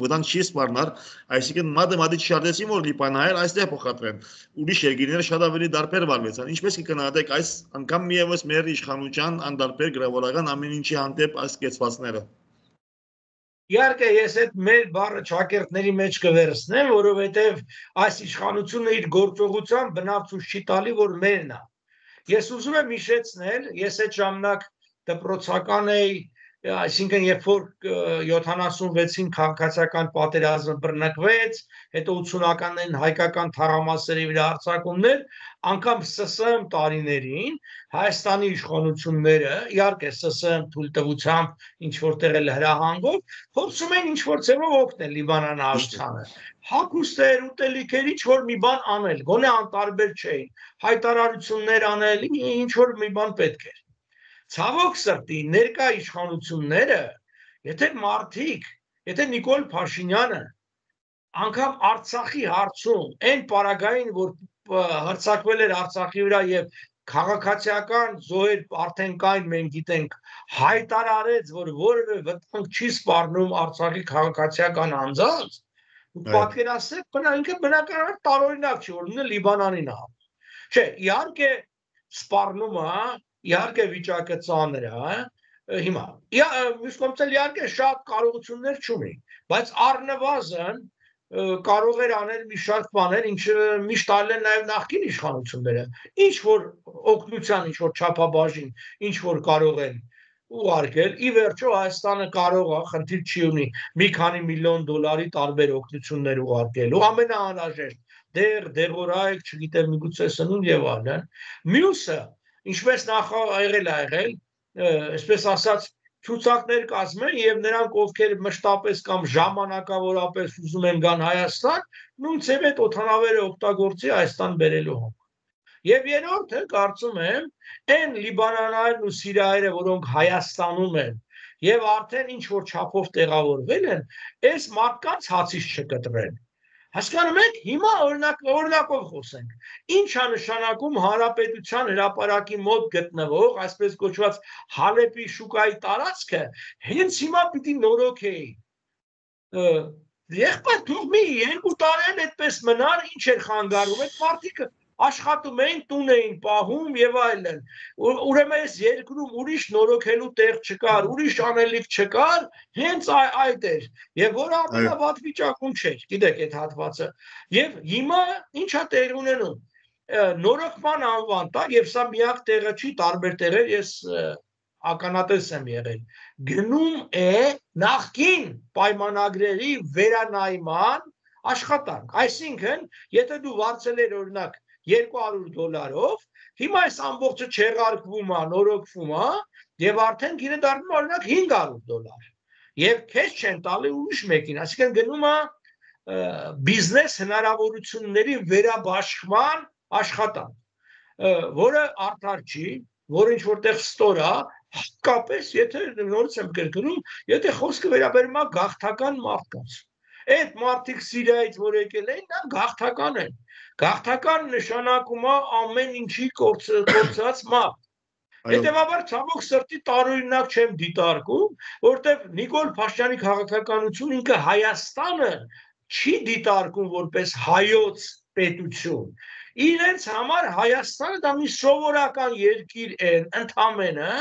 վտանգ չի սպառնար, այսինքն մատը մատի չարդեցին, որ լիպանահայեր այստեղ փոխադրեն։ Ուրիշ երկիրները շատ ավելի դարբեր վարվեցան։ Ինչպես կգնահատեք այս անգամ միևս մեր իշխանության անդարբեր գրավորական ամեն ինչի հանդեպ այս կեցվածները։ Իհարկե ես այդ մեր բառը ճակերտների մեջ կվերցնեմ, որովհետև այս իշխանությունը իր գործողությամբ բնավ չի տալի, որ մերն է։ Ես ուզում եմ հիշեցնել, ես այդ ժամանակ դպրոցական էի, այսինքն երբ որ յոթանասունվեցին քաղաքացիական պատերազմը բռնկվեց, հետո ութսունականներին հայկական թաղամասերի վրա հարձակումներ, անգամ ՍՍՀ տարիներին Հայաստանի իշխանությունները, իհարկե ՍՍՀ թույլտվությամբ ինչ որտեղ էլ հրահանգով, փորձում են ինչ որ ձևով օգնել Լիբանանահայությանը։ Հագուստեր, ուտելիքեր, ինչ որ մի բան անել, գոնե անտարբեր չէին, հայտարարություններ անել, ինչ որ մի բան պետք էր։ Ցավոք սրտի ներկա իշխանությունները, եթե մարդիկ, եթե Նիկոլ Փաշինյանը անգամ Արցախի հարցում այն պարագային, որ հրցակվել էր Արցախի վրա եւ քաղաքացիական զոհեր արդեն կային, մենք գիտենք, հայտարարեց, որ որևէ վտանգ չի սպառնում Արցախի քաղաքացիական անձանց, ու պատկերացրեք, բնա ինքը բնականաբար տարօրինակ չի, որ նույնը Լիբանանին է։ Չէ, իհարկե սպառնում է, իհարկե վիճակը ծանր է, հիմա։ Մյուս կողմից իհարկե շատ կարողություններ չունի, բայց առնվազն կարող էր անել մի շարք բաներ, ինչը միշտ արել են նաև նախկին իշխանությունները, ինչ որ օգնության, ինչ որ չափաբաժին, ինչ որ կարող են ուղարկել, ի վերջո Հայաստանը կարող է, խնդիր չի ունի, մի քանի միլիոն դոլարի տարբեր օգնություններ ուղարկելու, ամենաանհրաժեշտ, դեղ, դեղորայք, չգիտեմ, միգուցե սնունդ եւ այլն։ Մյուսը, ինչպես նախ եղել է եղել, այսպես ասած, ցուցակներ կազմեն եւ նրանք ովքեր մշտապես կամ ժամանակավորապես ուզում են գան Հայաստան, նույն ցեվ այդ օթանավերը օգտագործի Հայաստան բերելու համար։ Եվ երրորդը կարծում եմ, այն լիբանանայերն ու սիրիայերը, որոնք Հայաստանում են եւ արդեն ինչ որ չափով տեղավորվել են, այս մարդկանց հացից չկտրեն։ Հասկանում եք, հիմա օրինակ օրինակով խոսենք։ Ինչ է նշանակում հանրապետության հրապարակի մոտ գտնվող, այսպես կոչված Հալեպի շուկայի տարածքը, հենց հիմա պիտի նորոգեի։ Եղբայր թող մի երկու տարի այդպես մնար, ինչ էր խանգարում, այդ մարդիկ աշխատում էին, տուն էին պահում եւ այլն։ Ուրեմն այս երկրում ուրիշ նորոգելու տեղ չկար, ուրիշ անելիք չկար, հենց այդ էր։ Եվ որը ամենավատ վիճակում չէր, գիտեք այդ հատվածը։ Եվ հիմա ի՞նչ է տեղի ունենում։ Նորոգման անվան տակ, եւ սա միակ տեղը չի, տարբեր տեղեր ես ականատես եմ եղել։ Գնում է նախկին պայմանագրերի վերանայման աշխատանք։ Այսինքն, եթե դու վարձել ես օրինակ երկու հարյուր դոլարով, հիմա այս ամբողջը չեղարկվում է, նորոգվում է, եւ արդեն գինը դառնում է օրինակ հինգ հարյուր դոլար։ Եվ քեզ չեն տալի ուրիշ մեկին, այսինքն գնում է բիզնես հնարավորությունների վերաբաշխման աշխատանք, որը արդար չի, որը ինչ որտեղ ստոր է, հատկապես եթե նորից եմ կրկնում, եթե խոսքը վերաբերում է գաղթական մարդկանց։ Այդ մարդիկ Սիրիայից որ եկել են, նա գաղթական են։ Գաղթական նշանակում է ամեն ինչի կորցրած մարդ։ Հետևաբար ցավոք սրտի տարօրինակ չեմ դիտարկում, որտեղ Նիկոլ Փաշինյանի քաղաքականություն ինքը Հայաստանը չի դիտարկում որպես հայոց պետություն։ Իրենց համար Հայաստանը դա մի սովորական երկիր է, ընդամենը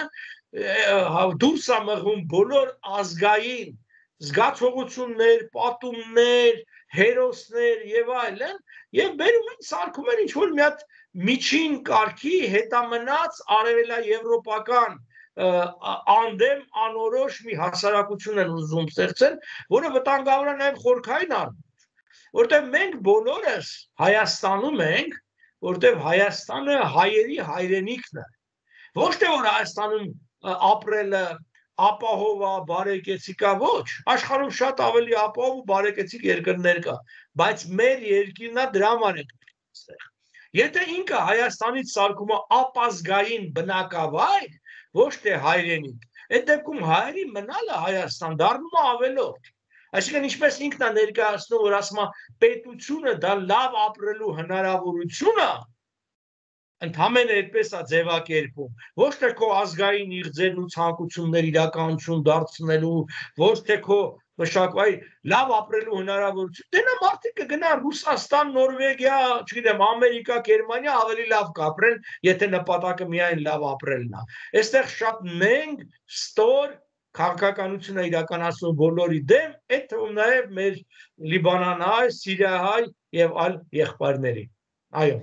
դուրս է մղում բոլոր ազգային զգացողություններ, պատումներ, հերոսներ եւ այլն, եւ բերում են սարքում են ինչ-որ մի հատ միջին կարգի հետամնաց արևելաեվրոպական անդեմ անորոշ մի հասարակություն են ուզում ստեղծել, որը վտանգավոր է նաեւ խորքային առումով, որտեղ մենք բոլորս Հայաստանում ենք, որտեղ Հայաստանը հայերի հայրենիքն է, ոչ թե որ Հայաստանում ապրելը ապահով է, բարեկեցիկ է, ոչ, աշխարհում շատ ավելի ապահով ու բարեկեցիկ երկրներ կա, բայց մեր երկիրն է դրա համար է այստեղ։ Եթե ինքը Հայաստանից սարքում է ապազգային բնակավայր, ոչ թե հայրենիք, այդ դեպքում հայերի մնալը Հայաստան դառնում է ավելորդ։ Այսինքն ինչպես ինքն է ներկայացնում, որ ասում է պետությունը դա լավ ապրելու հնարավորություն է, ընդհանրապես այդպես է ձևակերպում, ոչ թե քո ազգային իղձերն ու ցանկություններ իրականություն դարձնելու, ոչ թե քո մշակվայի լավ ապրելու հնարավորություն, դե նա մարդիկ կգնա Ռուսաստան, Նորվեգիա, չգիտեմ, Ամերիկա, Գերմանիա ավելի լավ կապրեն, եթե նպատակը միայն լավ ապրելն է։ Այստեղ շատ նենգ, ստոր քաղաքականություն է իրականացնում բոլորի դեմ, այդ թվում նաև մեր լիբանանահայ, սիրիահայ եւ այլ եղբայրների։ Այո։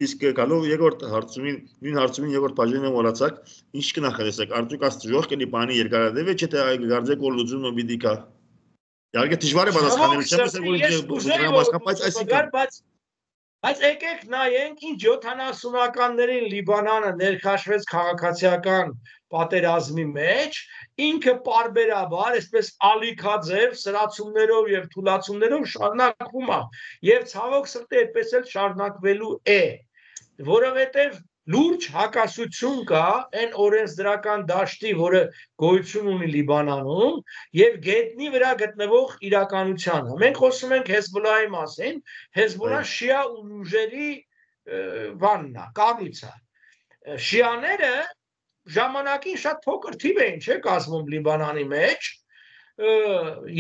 Իսկ գալով երկրորդ հարցումին, նույն հարցումին երկրորդ բաժինը մոռացաք, ինչ կնախադեսեք, արդյոք աստիճան կլինի բանի երկարատև է, չէ՞ թե գարձեք որ լուծումը պիտի կա։ Իհարկե դժվար է պատասխանել, չեմ ասել որ բայց այսինքն Բայց եկեք նայենք, ինչ յոթանասունականներին Լիբանանը ներքաշվեց քաղաքացիական պատերազմի մեջ, ինքը պարբերաբար, այսպես ալիքաձև սրացումներով եւ թուլացումներով շարունակվում է, եւ ցավոք սրտի այդպես էլ շարունակվելու է, որովհետեւ լուրջ հակասություն կա այն օրենսդրական դաշտի, որը գոյություն ունի Լիբանանում, եւ գետնի վրա գտնվող իրականությանը։ Մենք խոսում ենք Հեզբոլլահի մասին, Հեզբոլլահ շիա ուժերի բանն է, կառույցը։ Շիաները ժամանակին շատ փոքր թիվ էին, չէ՞, կազմում Լիբանանի մեջ,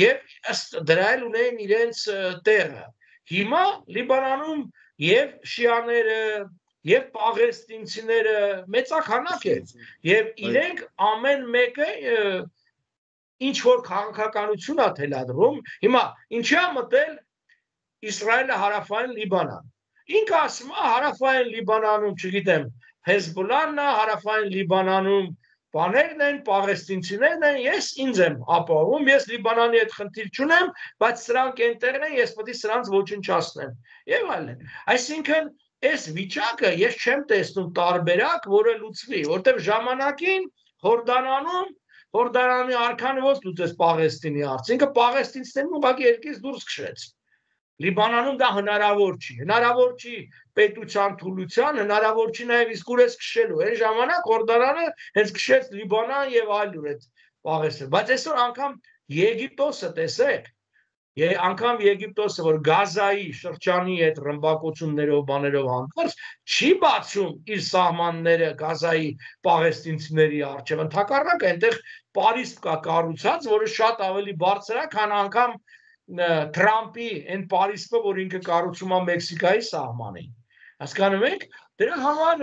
եւ ըստ դրա էլ ունեն իրենց տեղը։ Հիմա Լիբանանում եւ շիաները եւ պաղեստինցիները մեծաքանակ են եւ իրենք ամեն մեկը ինչ որ քաղաքականություն է թելադրում։ Հիմա ինչի է մտել Իսրայելը հարավային Լիբանան։ Ինքը ասում է հարավային Լիբանանում, չգիտեմ, Հեզբոլլահն է, հարավային Լիբանանում բաներն են, պաղեստինցիներն են, ես ինձ եմ ապահովում, ես Լիբանանի հետ խնդիր չունեմ, բայց սրանք այնտեղն են, ես պետք է սրանց ոչնչացնեմ եւ այլն։ Այսինքն այս վիճակը ես չեմ տեսնում տարբերակ, որը լուծվի, որտեղ ժամանակին Հորդանանում, Հորդանանի արքան ո՞նց լուծեց Պաղեստինի հարցը, ինքը պաղեստինցիներին ուղղակի երկից դուրս քշեց։ Լիբանանում դա հնարավոր չի, հնարավոր չի պետության թուլության, հնարավոր չի նաև իսկուրես քշելու։ Այն ժամանակ Հորդանանը հենց քշեց Լիբանան եւ այլուր այդ Պաղեստին։ Բայց այսօր անգամ Եգիպտոսը տեսեք, Եվ անգամ Եգիպտոսը, որ Գազայի շրջանի հետ ռմբակոծություններով բաներով հանդերձ չի բացում իր սահմանները Գազայի պաղեստինցիների առջև, ընդհակառակը այնտեղ պարիսպ կա կառուցած, որը շատ ավելի բարձր է, քան անգամ Թրամփի այն պարիսպը, որ ինքը կառուցում է Մեքսիկայի սահմանին։ Հասկանում եք, դրա համար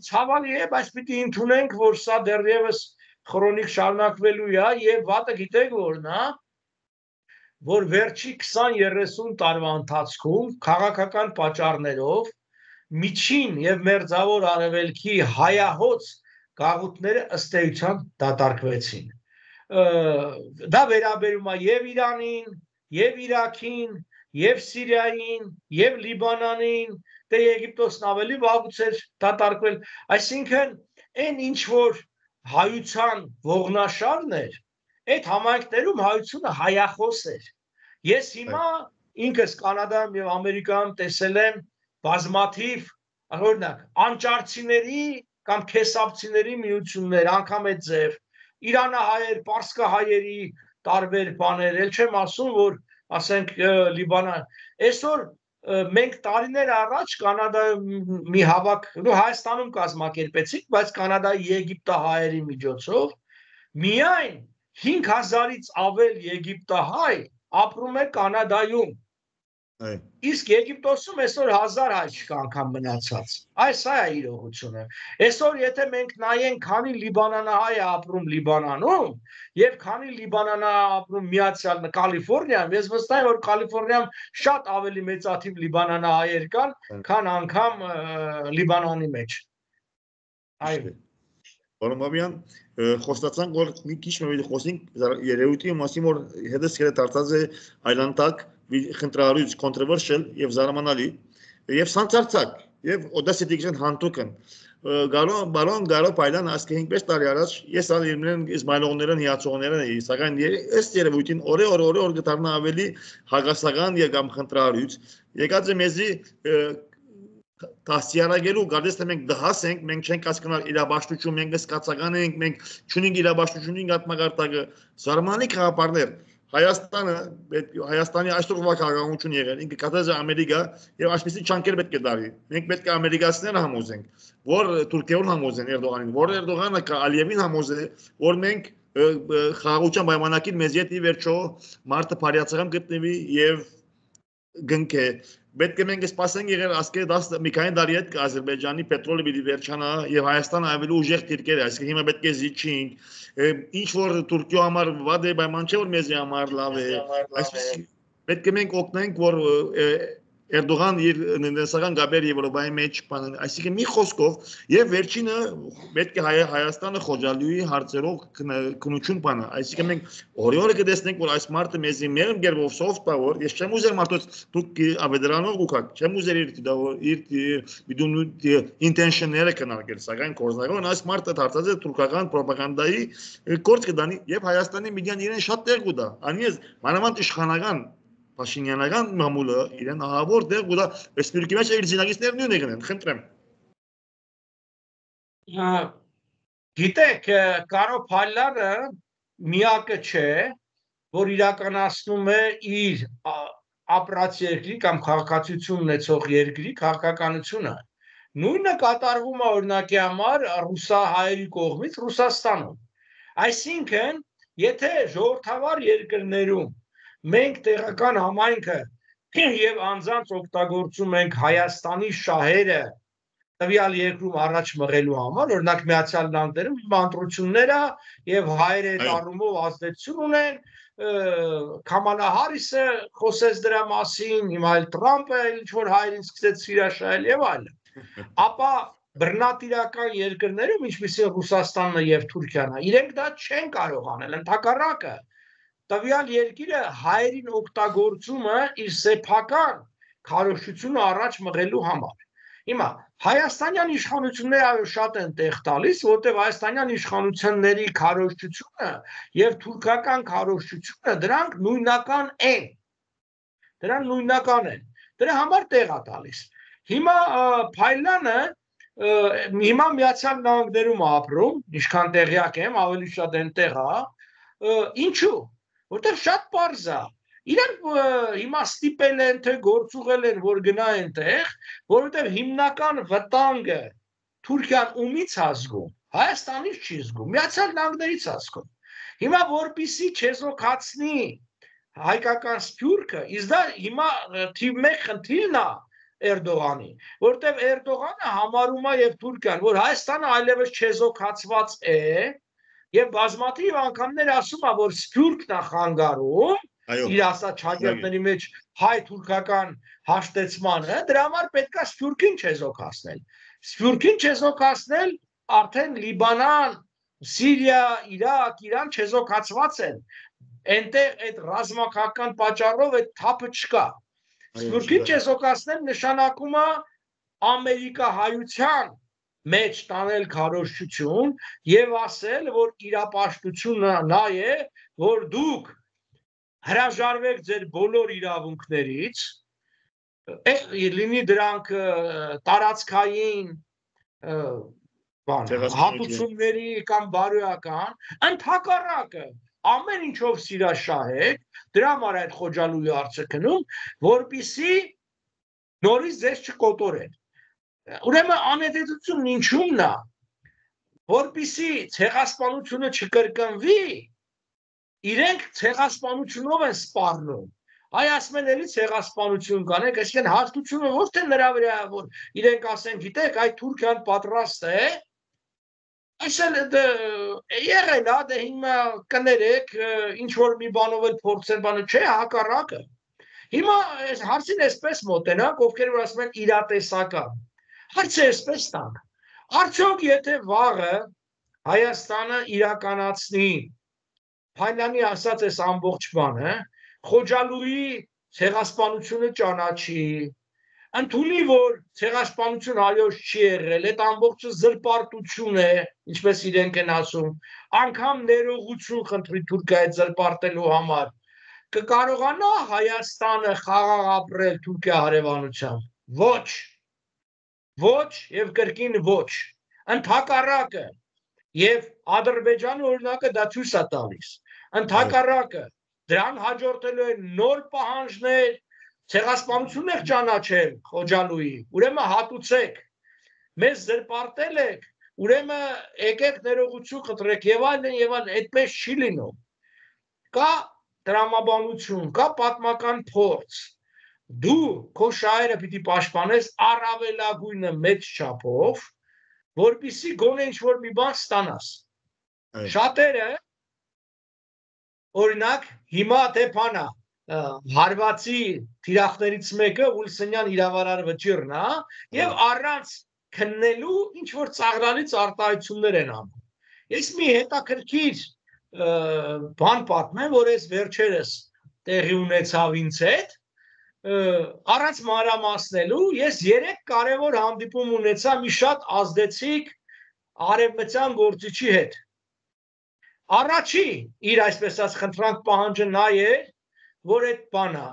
ցավալի է, բայց պիտի ընդունենք, որ սա դեռևս քրոնիկ շարունակվելու է, եւ վատը գիտեք որն է, որ վերջի քսան երեսուն տարվա ընթացքում քաղաքական պատճառներով միջին եւ մերձավոր արևելքի հայահոց գաղութները ըստ էության դատարկվեցին։ Դա վերաբերում է եւ Իրանին, եւ Իրաքին, եւ Սիրիային, եւ Լիբանանին, դե Եգիպտոսն ավելի վաղուց էր դատարկվել, այսինքն այն ինչ որ հայության ողնաշարն էր, այդ համայնքներում հայությունը հայախոս էր։ Ես հիմա ինքս Կանադայում եւ Ամերիկայում տեսել եմ բազմաթիվ, օրինակ, անճարցիների կամ քեսապցիների միություններ, անգամ այդ ձև, իրանահայեր, պարսկահայերի տարբեր բաներ, ել չեմ ասում, որ ասենք Լիբանան, այսօր մենք տարիներ առաջ Կանադայում մի հավաք, ու Հայաստանում կազմակերպեցինք, բայց Կանադայի եգիպտահայերի միջոցով միայն հինգ հազարից ավել եգիպտահայ ապրում է Կանադայում։ Իսկ Եգիպտոսում այսօր հազար հայ չկա անգամ մնացած։ Այս է իրողությունը։ Այսօր եթե մենք նայենք, քանի լիբանանահայ է ապրում Լիբանանում եւ քանի լիբանանահայ ապրում Միացյալ Կալիֆոռնիայում, ես վստահ եմ, որ Կալիֆոռնիայում շատ ավելի մեծաթիվ լիբանանահայեր կան, քան անգամ Լիբանանի մեջ։ Այո։ Որոմաբյան խոստացանք, որ մի քիչ մեր խոսենք երևույթի մասին, որ հետս կերը դարձած է այլանդակ խնդրարույց controversial եւ զարմանալի եւ սանցարցակ եւ օդասիտիկ션 հանդուկն գալու բարոն գալու պայլան ասկե հինգ տարի առաջ ես ալ իրեն իսմայլողներն հիացողներն էի, սակայն ըստ երևույթին օրե օր օրե օր գտարնա ավելի հագասական եւ կամ խնդրարույց եկած է մեզի Տասյարագելու գարդես թե մենք դահաս ենք, մենք չենք հասկանալ իրաբաշխություն, մենք սկացական ենք, մենք չունենք իրաբաշխությունին գատմագարտակը, զարմանալի քաղաքապարներ, Հայաստանը, Հայաստանի այսօրվա քաղաքականություն եղել, ինքը կատարած է Ամերիկա եւ այսպեսի չանկեր պետք է դարի։ Մենք պետք է ամերիկացիները համոզենք, որ Թուրքիան համոզեն Էրդողանին, որ Էրդողանը Ալիևին համոզե, որ մենք խաղաղության պայմանագիր մեզ յետի վերջո մարտը բարյացակամ գտնվի եւ գնքե պետք է մենք սպասենք եղել ասկե դաս մի քանի տարի հետ Ադրբեջանի պետրոլը պիտի վերջանա եւ Հայաստանը ավելի ուժեղ դիրքեր է այսինքն հիմա պետք է զիջենք ինչ որ Թուրքիո համար վատ է պայման չէ որ մեզի համար լավ է այսպես պետք է մենք օգնենք որ Էրդողան իր ներսական գաբեր Եվրոպայի մեջ բան այսինքն մի խոսքով եւ վերջինը պետք է Հայաստանը խոջալուի հարցերով քնություն բանը այսինքն մենք օրիորը կտեսնենք որ այս մարտը մեզի մեր գերով soft power ես չեմ ուզեր մարդոց դուք ավեդրանով ուքակ չեմ ուզեր իր իր բիդուն intention-ները կնարգել սակայն կորզնական այս մարտը դարձած է թուրքական ռոպագանդայի կորց կդանի եւ Հայաստանի միդիան իրեն շատ տեղ կուտա անիես մանավանդ իշխանական Փաշինյանական մամուլը իրեն ահավոր դեղ ու դա Ռեսպուբլիկի մեջ իր զինագիստներն նույնն եղնեն, խնդրեմ։ Գիտեք, Կարո Փալյանը միակը չէ, որ իրականացնում է իր ապրած երկրի կամ քաղաքացիություն ունեցող երկրի քաղաքականությունը։ Նույնը կատարվում է օրինակի համար ռուսահայերի կողմից Ռուսաստանում։ Այսինքն, եթե ժողովրդավար երկրներում մենք տեղական համայնքը եւ անձանց օգտագործում ենք Հայաստանի շահերը տվյալ երկրում առաջ մղելու համար, օրինակ Միացյալ Նահանգներում բանտրությունները եւ հայերը այդ առումով ազդեցություն ունեն, Կամալա Հարիսը խոսեց դրա մասին, հիմա էլ Թրամփը ինչ որ հայերին սկսեց սիրաշահել եւ այլն։ Ապա բռնատիրական երկրներում, ինչպիսին Ռուսաստանն եւ Թուրքիան, իրենք դա չեն կարող անել, ընդհակառակը տվյալ երկիրը հայերին օգտագործումը իր սեփական քարոզչությունը առաջ մղելու համար։ Հիմա Հայաստանյան իշխանությունները այո շատ են տեղ տալիս, որտեղ Հայաստանյան իշխանությունների քարոզչությունը եւ թուրքական քարոզչությունը դրանք նույնական են։ Դրանք նույնական են։ Դրա համար տեղ է տալիս։ Հիմա Փայլյանը հիմա Միացյալ Նահանգներում ապրում, ինչքան տեղյակ եմ, ավելի շատ այնտեղ է։ Ինչու՞։ Որտեղ շատ պարզ է, Իրանք հիմա ստիպել են, թե գործուղել են, որ գնային տեղ, որովհետև հիմնական վտանգը Թուրքիան ումից է զգում, Հայաստանից չի զգում, Միացյալ Նահանգներից է զգում։ Հիմա որպեսզի չեզոքացնի հայկական սփյուռքը, իսկ դա հիմա թիվ մեկ խնդիրն է Էրդողանի, որտեղ Էրդողանը համարում է եւ Թուրքիան, որ Հայաստանը այլևս չեզոքացված է եւ բազմաթիվ անգամներ ասում է, որ սփյուռքն է խանգարում իր ասած ճակերտների մեջ հայ-թուրքական հաշտեցմանը, դրա համար պետք է սփյուռքին չեզոքացնել։ Սփյուռքին չեզոքացնել արդեն Լիբանան, Սիրիա, Իրաք, Իրան չեզոքացված են։ Այնտեղ այդ ռազմական պատճառով այդ թափը չկա։ Սփյուռքին չեզոքացնել նշանակում է ամերիկահայության մեջ տանել քարոզչություն եւ ասել, որ իրապաշտությունը նա է, որ դուք հրաժարվեք ձեր բոլոր իրավունքներից, լինի դրանք տարածքային հատուցումների կամ բարոյական, ընդհակառակը ամեն ինչով սիրաշահեք, դրա համար այդ Խոջալույի հարցը քնում, որպեսզի նորից ձեզ չկոտորեն։ Ուրեմն անհետեցությունն ինչումն է, որպեսզի ցեղասպանությունը չկրկնվի, իրենք ցեղասպանությունով են սպառնում։ Այ ասում են էլի ցեղասպանություն կանենք, այսինքն հաստությունը ոչ թե նրա վրա է, որ իրենք ասեն, գիտեք, այդ Թուրքիան պատրաստ է, այսել եղել է, դե հիմա կներեք, ինչ որ մի բանով էլ փորձեն բանը, չէ, հակառակը։ Հիմա հարցին այսպես մոտենանք, ովքեր որ ասում են իրատեսական։ Հարցը այսպես տանք։ Արդյոք եթե վաղը Հայաստանը իրականացնի Փայլյանի ասած այս ամբողջ բանը, Խոջալույի ցեղասպանությունը ճանաչի, ընդունի, որ ցեղասպանություն այոց չի եղել, այդ ամբողջը զրպարտություն է, ինչպես իրենք են ասում, անգամ ներողություն խնդրի Թուրքիայից զրպարտելու համար, կկարողանա Հայաստանը խաղաղ ապրել Թուրքիա հարևանությամբ։ Ոչ, ոչ եւ կրկին ոչ, ընդհակառակը, եւ Ադրբեջանի օրինակը դա ցույց է տալիս, ընդհակառակը, դրան հաջորդելու են նոր պահանջներ, ցեղասպանություն եք ճանաչել Խոջալույի, ուրեմն հատուցեք, մեզ զրպարտել եք, ուրեմն եկեք ներողություն խնդրեք եւ այլն եւ այլն, այդպես չի լինում։ Կա տրամաբանություն, կա պատմական փորձ։ Դու քո շահերը պիտի պաշտպանես առավելագույնը մեծ չափով, որպեսզի գոնե ինչ-որ մի բան ստանաս։ Շատերը, օրինակ, հիմա թե բանա, հարվածի թիրախներից մեկը Ուլսենյան իրավարար վճիռն է, եւ առանց քննելու ինչ-որ ծաղրալից արտահայտություններ են անում։ Ես մի հետաքրքիր բան պատմեմ, որ ես վերջերս տեղի ունեցավ ինձ հետ, առանց մանրամասնելու, ես երեք կարևոր հանդիպում ունեցա մի շատ ազդեցիկ արևմտյան գործիչի հետ։ Առաջի իր այսպես ասած խնդրանք պահանջը նա է, որ այդ բանը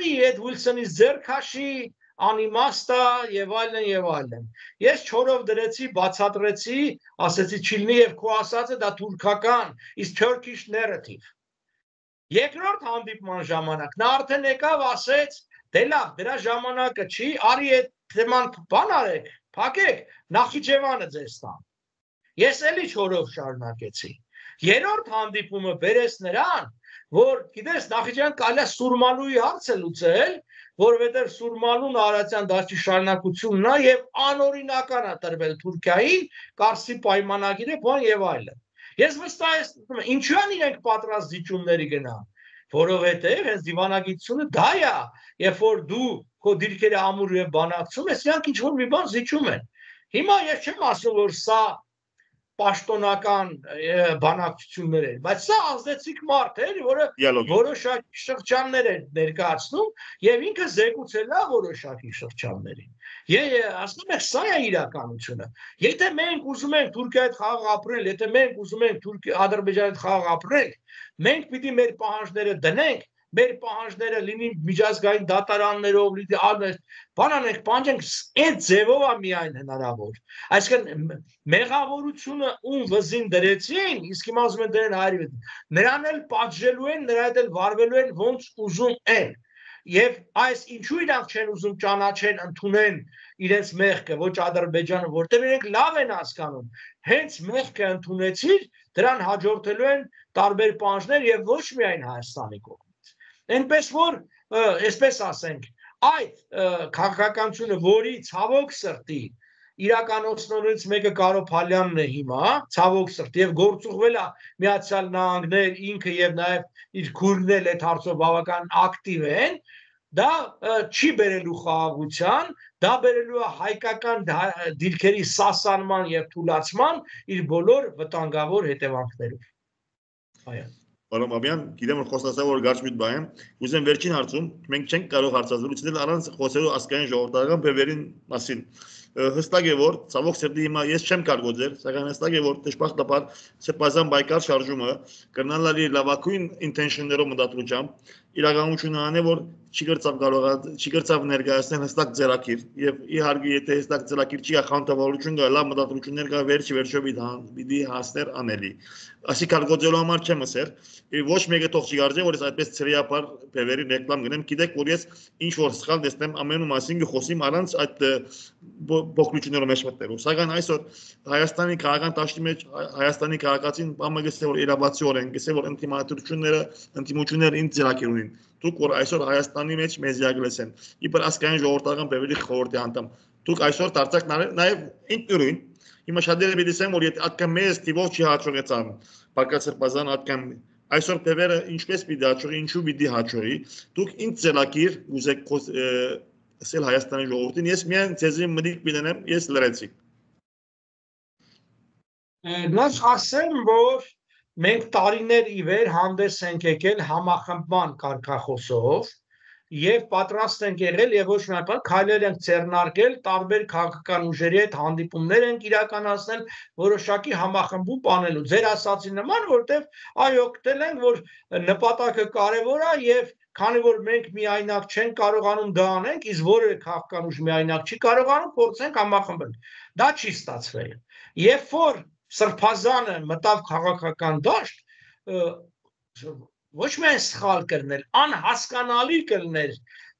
այդ Ուիլսոնի ձեռքաշի անիմաստա եւ այլն եւ այլն։ Ես չորով դրեցի, բացատրեցի, ասեցի չլինի եւ քո ասածը դա թուրքական, is Turkish narrative։ Երկրորդ հանդիպման ժամանակ նա արդեն եկավ ասեց, դե լավ, դրա ժամանակը չի, արի այդ թեման բան արեք, փակեք, Նախիջևանը ձեզ տան։ Ես էլի չորով շարունակեցի։ Երրորդ հանդիպումը բերեց նրան, որ գիտես Նախիջևան կարելի է Սուրմանուի հարցը լուծել, որովհետև Սուրմանուն Արարատյան դաշտի շարունակությունն է եւ անօրինական է տրվել Թուրքիային, Կարսի պայմանագիրը, բան եւ այլն։ Ես վստահ եմ, ինչու են իրենք պատրաստ զիջումների գնան, որովհետև հենց դիվանագիտությունը դա է, երբ որ դու քո դիրքերը ամուր եւ բանակցում ես, իրանք ինչ որ մի բան զիջում են։ Հիմա ես չեմ ասում, որ սա պաշտոնական բանակցություններ են, բայց սա ազդեցիկ մարդ էր, որը որոշակի շրջաններ էր ներկայացնում եւ ինքը զեկուցել է որոշակի շրջաններին։ Ես ասում եմ, սա է իրականությունը։ Եթե մենք ուզում ենք Թուրքիայի հետ խաղաղ ապրել, եթե մենք ուզում ենք Թուրքիա Ադրբեջանի հետ խաղաղ ապրել, մենք պիտի մեր պահանջները դնենք, մեր պահանջները լինին միջազգային դատարաններով, բան անենք, պահանջենք, այդ ձևով է միայն հնարավոր։ Այսինքն մեղավորությունը ում վզին դրեցին, իսկ հիմա ուզում են դրեն հայերի վրա, նրան էլ պատժելու են, նրա հետ էլ վարվելու են ոնց ուզում են։ Եվ այս ինչու իրանք չեն ուզում ճանաչեն, ընդունեն իրենց մեղքը, ոչ Ադրբեջանը, որտեղ իրենք լավ են հասկանում, հենց մեղքը ընդունեցիր, դրան հաջորդելու են տարբեր պահանջներ եւ ոչ միայն Հայաստանի կողմից։ Այնպես որ, այսպես ասենք, այդ քաղաքականությունը, որի ցավոք սրտի իրականացնողներից մեկը Կարո Փալյանն է հիմա, ցավոք սրտի, եւ գործուղվել է Միացյալ Նահանգներ, ինքը եւ նաեւ իր քուրդն էլ այդ հարցով բավական ակտիվ են, դա չի բերելու խաղաղության, դա բերելու է հայկական դիրքերի սասանման եւ թուլացման իր բոլոր վտանգավոր հետևանքներով։ Այո։ Պարոն Բաբյան, գիտեմ որ խոսացա որ գարշ բան եմ, ուզեմ վերջին հարցում, մենք չենք կարող հարցազրույցնել առանց խոսելու ազգային ժողովրդական բևերին մասին։ Հստակ է որ ցավոք սրտի հիմա ես չեմ կարող գործել, սակայն հստակ է որ դժբախտաբար Սրբազան Բայկար շարժումը կրնալալի լավագույն ինտենշններով մտածությամբ իրականությունը անե որ չի գրծավ կարող չի գրծավ ներկայացնել հստակ ձեռակիր եւ իհարկե եթե հստակ ձեռակիր չի ախանտավորություն գա լավ մտածություններ կա վերջի վերջո պիտի հասներ անելի ասի կարգոծելու համար չեմ ասեր ոչ մեկը թող չի արժե որ ես այդպես ծրիապար բևերի ռեկլամ գնեմ գիտեք որ ես ինչ որ սխալ տեսնեմ ամենու մասին խոսիմ առանց այդ բողոքությունները մեջ մտնելու սակայն այսօր Հայաստանի քաղաքական դաշտի մեջ Հայաստանի քաղաքացին բամը գսե որ իրավացիորեն գսե որ ինտիմատությունները ինտիմությունները ինձ ձեռակիր ունին դուք որ այսօր Հայաստանի մեջ մեզ յագլեսեն իբր ասկային ժողովրդական բևերի խորհրդի անդամ դուք այսօր դարձակ նաև ինքնուրույն հիմա շատերը դիտեն որ եթե ատկան մեզ տիվով չի հաջողեցան Պարկած Սրբազան ատկան այսօր բևերը ինչպես պիտի հաջողի ինչու պիտի հաջողի դուք ինձ ձեռակիր ուզեք ասել Հայաստանի ժողովրդին ես միայն ցեզի մտիկ պիտենեմ ես լրացի Նախ ասեմ որ մենք տարիներ ի վեր հանդես ենք եկել համախմբման կարգախոսով եւ պատրաստ ենք եղել եւ ոչ միայն քայլեր ենք ձեռնարկել տարբեր քաղաքական ուժերի հետ հանդիպումներ ենք իրականացնել որոշակի համախմբում բանելու ձեր ասացի նման որտեվ այո գտել ենք որ նպատակը կարեւոր է եւ քանի որ մենք միայնակ չենք կարողանում դա անենք իսկ որևէ քաղաքական ուժ միայնակ չի կարողանում փորձենք համախմբել դա չի ստացվել երբ որ Սրբազանը մտավ քաղաքական դաշտ ոչ միայն սխալ կրնել, անհասկանալի կլներ,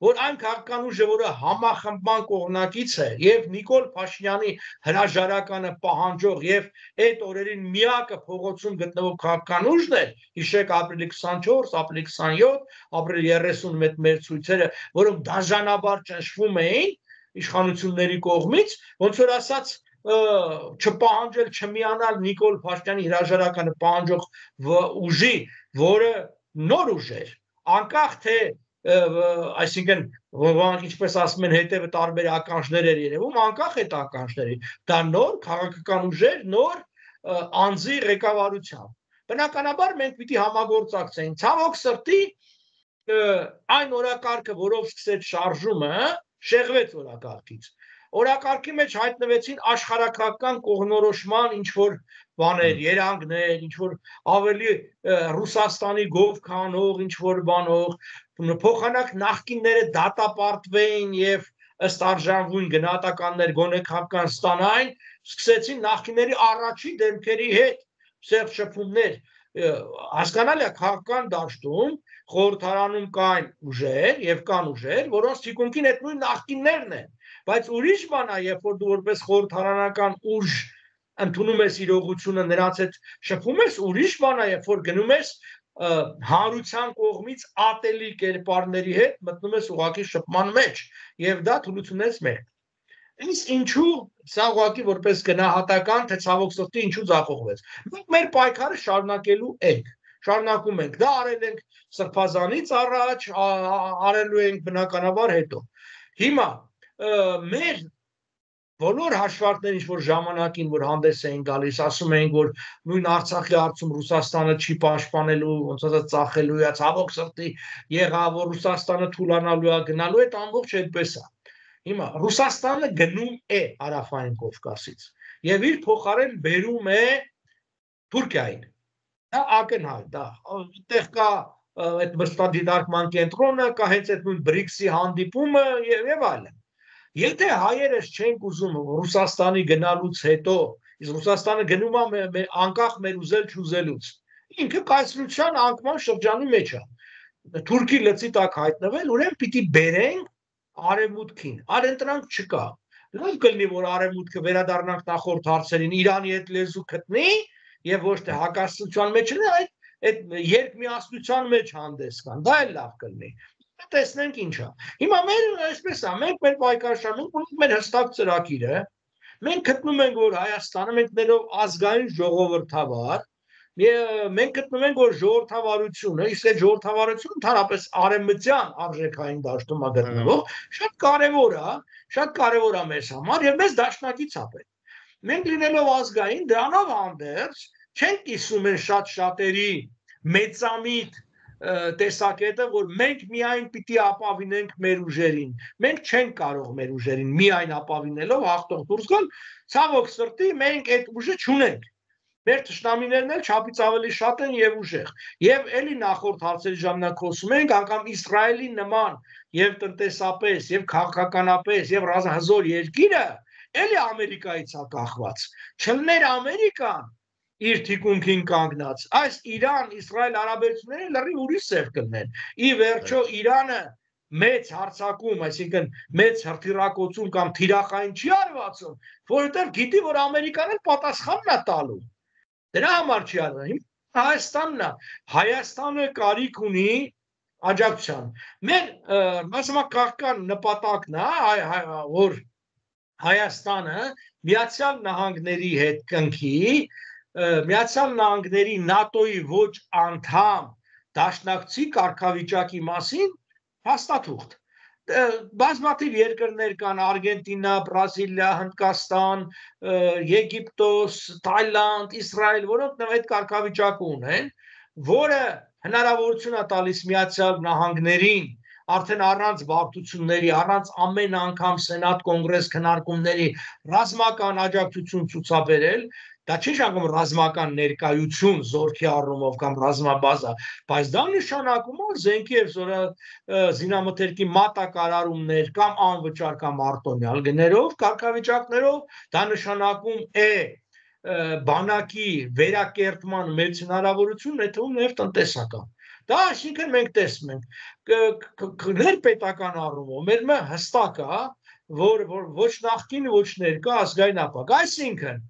որ այն քաղաքական ուժը, որը համախմբման կողմնակից է, եւ Նիկոլ Փաշինյանի հրաժարականը պահանջող եւ այդ օրերին միակը փողոցում գտնվող քաղաքական ուժն էր, հիշեք ապրիլի քսանչորս, ապրիլի քսանյոթ, ապրիլի երեսուն մեր ցույցերը, որոնք դաժանաբար ճնշվում էին իշխանությունների կողմից, ոնց որ ասած չպահանջել չմիանալ Նիկոլ Փաշինյանի հրաժարականը պահանջող ուժի, որը նոր ուժ էր, անկախ թե այսինքն ոմանք ինչպես ասում են հետևը տարբեր ականջներ էր երևում, անկախ այդ ականջների, դա նոր քաղաքական ուժեր, նոր անձի ղեկավարությամբ։ Բնականաբար մենք պիտի համագործակցենք։ Ցավոք սրտի այն օրակարգը, որով սկսեց շարժումը, շեղվեց օրակարգից։ Օրակարգի մեջ հայտնվեցին աշխարհակրթական կողմնորոշման ինչ որ բաներ, երանգներ, ինչ որ ավելի Ռուսաստանի գով քանող, ինչ որ բանող, փոխանակ նախկինները դատապարտվեին եւ ըստ արժանվուն գնահատականներ գոնե քաղաքական ստանային, սկսեցին նախկինների առաջի դեմքերի հետ սերտ շփումներ, հասկանալի է քաղաքական դաշտում խորհրդարանում կային ուժեր եւ կան ուժեր, որոնց թիկունքին այդ նույն նախկիններն են Բայց ուրիշ բան է, երբ որ դու որպես խորհրդարանական ուժ ընդունում ես իրողությունը նրանց հետ շփում ես, ուրիշ բան է, երբ որ գնում ես հանրության կողմից ատելի կերպարների հետ մտնում ես ուղղակի շփման մեջ եւ դա թուլությունից մեկն է։ Իսկ ինչու սա ուղղակի որպես գնահատական թե ցավոք սրտի ինչու ձախողվեց։ Մենք մեր պայքարը շարունակելու ենք, շարունակում ենք, դա արել ենք Սրբազանից առաջ, արելու ենք բնականաբար հետո։ Հիմա մեր բոլոր հաշվարկները ինչ որ ժամանակին որ հանդես էին գալիս ասում էին որ նույն Արցախի հարցում Ռուսաստանը չի պաշտպանելու ոնց ասած ծախելու է ցավոք սրտի եղավ որ Ռուսաստանը թուլանալու է գնալու է ամբողջ այդպես է հիմա Ռուսաստանը գնում է Հարավային Կովկասից եւ իր փոխարեն բերում է Թուրքիային դա ակնհայտ դա այդտեղ կա այդ մշտադիտարկման կենտրոնը, կա հենց այդ նույն բրիքսի հանդիպումը եւ այլն։ Եթե հայերս չենք ուզում Ռուսաստանի գնալուց հետո, իսկ Ռուսաստանը գնում է անկախ մեր ուզել չուզելուց, ինքը կայսրության անկման շրջանի մեջ է։ Թուրքի լծի տակ հայտնվել, ուրեմն պիտի բերենք արևմուտքին, այլընտրանք չկա։ Լավ կլինի, որ արևմուտքը վերադառնանք նախորդ հարցերին, Իրանի հետ լեզու գտնի եւ ոչ թե հակասության մեջ լինի, այդ այդ երկմիասնության մեջ հանդես գան, դա էլ լավ կլինի։ Տեսնենք ինչ է։ Հիմա մեր այսպես է, մենք մեր պայքարշանում ունենք մեր հստակ ծրագիրը։ Մենք գտնում ենք, որ Հայաստանը մենք ներով ազգային ժողովրդավար, մենք գտնում ենք, որ ժողովրդավարությունը, իսկ այդ ժողովրդավարությունը ընդհանրապես արևմտյան արժեքային դաշտում է գտնվող, շատ կարևոր է, շատ կարևոր է մեզ համար եւ մեզ դաշնակից է պետք։ Մենք լինելով ազգային, դրանով հանդերձ չենք կիսում են շատ շատերի մեծամիտ տեսակետը, որ մենք միայն պիտի ապավինենք մեր ուժերին։ Մենք չենք կարող մեր ուժերին միայն ապավինելով հաղթող դուրս գալ, ցավոք սրտի մենք այդ ուժը չունենք։ Մեր թշնամիներն էլ չափից ավելի շատ են եւ ուժեղ։ Եվ էլի նախորդ հարցերի ժամանակ խոսում ենք, անգամ Իսրայելի նման եւ տնտեսապես եւ քաղաքականապես եւ հզոր երկիրը էլի Ամերիկայից է կախված։ Չլներ Ամերիկան իր թիկունքին կանգնած, այս Իրան-Իսրայել հարաբերությունները լրիվ ուրիշ ձև կլինեն։ Ի վերջո Իրանը մեծ հարցակում, այսինքն մեծ հրթիռակոծում կամ թիրախային չի արվածում, որովհետև գիտի, որ Ամերիկան էլ պատասխանն է տալու։ Դրա համար չի արվում։ Հայաստանն է, Հայաստանը կարիք ունի աջակցության։ Մեր մասնակցական նպատակն է, որ Հայաստանը Միացյալ Նահանգների հետ կնքի, Միացյալ Նահանգների նատոյի ոչ անդամ դաշնակցի կարգավիճակի մասին հաստատուղթ։ Բազմաթիվ երկրներ կան, Արգենտինա, Բրազիլիա, Հնդկաստան, Եգիպտոս, Թայլանդ, Իսրայել, որոնք այդ կարգավիճակը ունեն, որը հնարավորություն է տալիս Միացյալ Նահանգներին արդեն առանց բարդությունների, առանց ամեն անգամ Սենատ կոնգրես քննարկումների ռազմական աջակցություն ցուցաբերել, դա չի նշանակում ռազմական ներկայություն զորքի առումով կամ ռազմաբազա, բայց դա նշանակում է զենքի եւ զինամթերքի մատակարարումներ կամ անվճար կամ արտոնյալ գներով, կարգավիճակներով, դա նշանակում է բանակի վերակերտման մեծ հնարավորություն, եթե ուներ տնտեսական։ Դա այսինքն մենք տեսնում ենք ներպետական առումով մեր մը հստակ է, որ ոչ նախկին, ոչ ներկա ազգային ապագա, այսինքն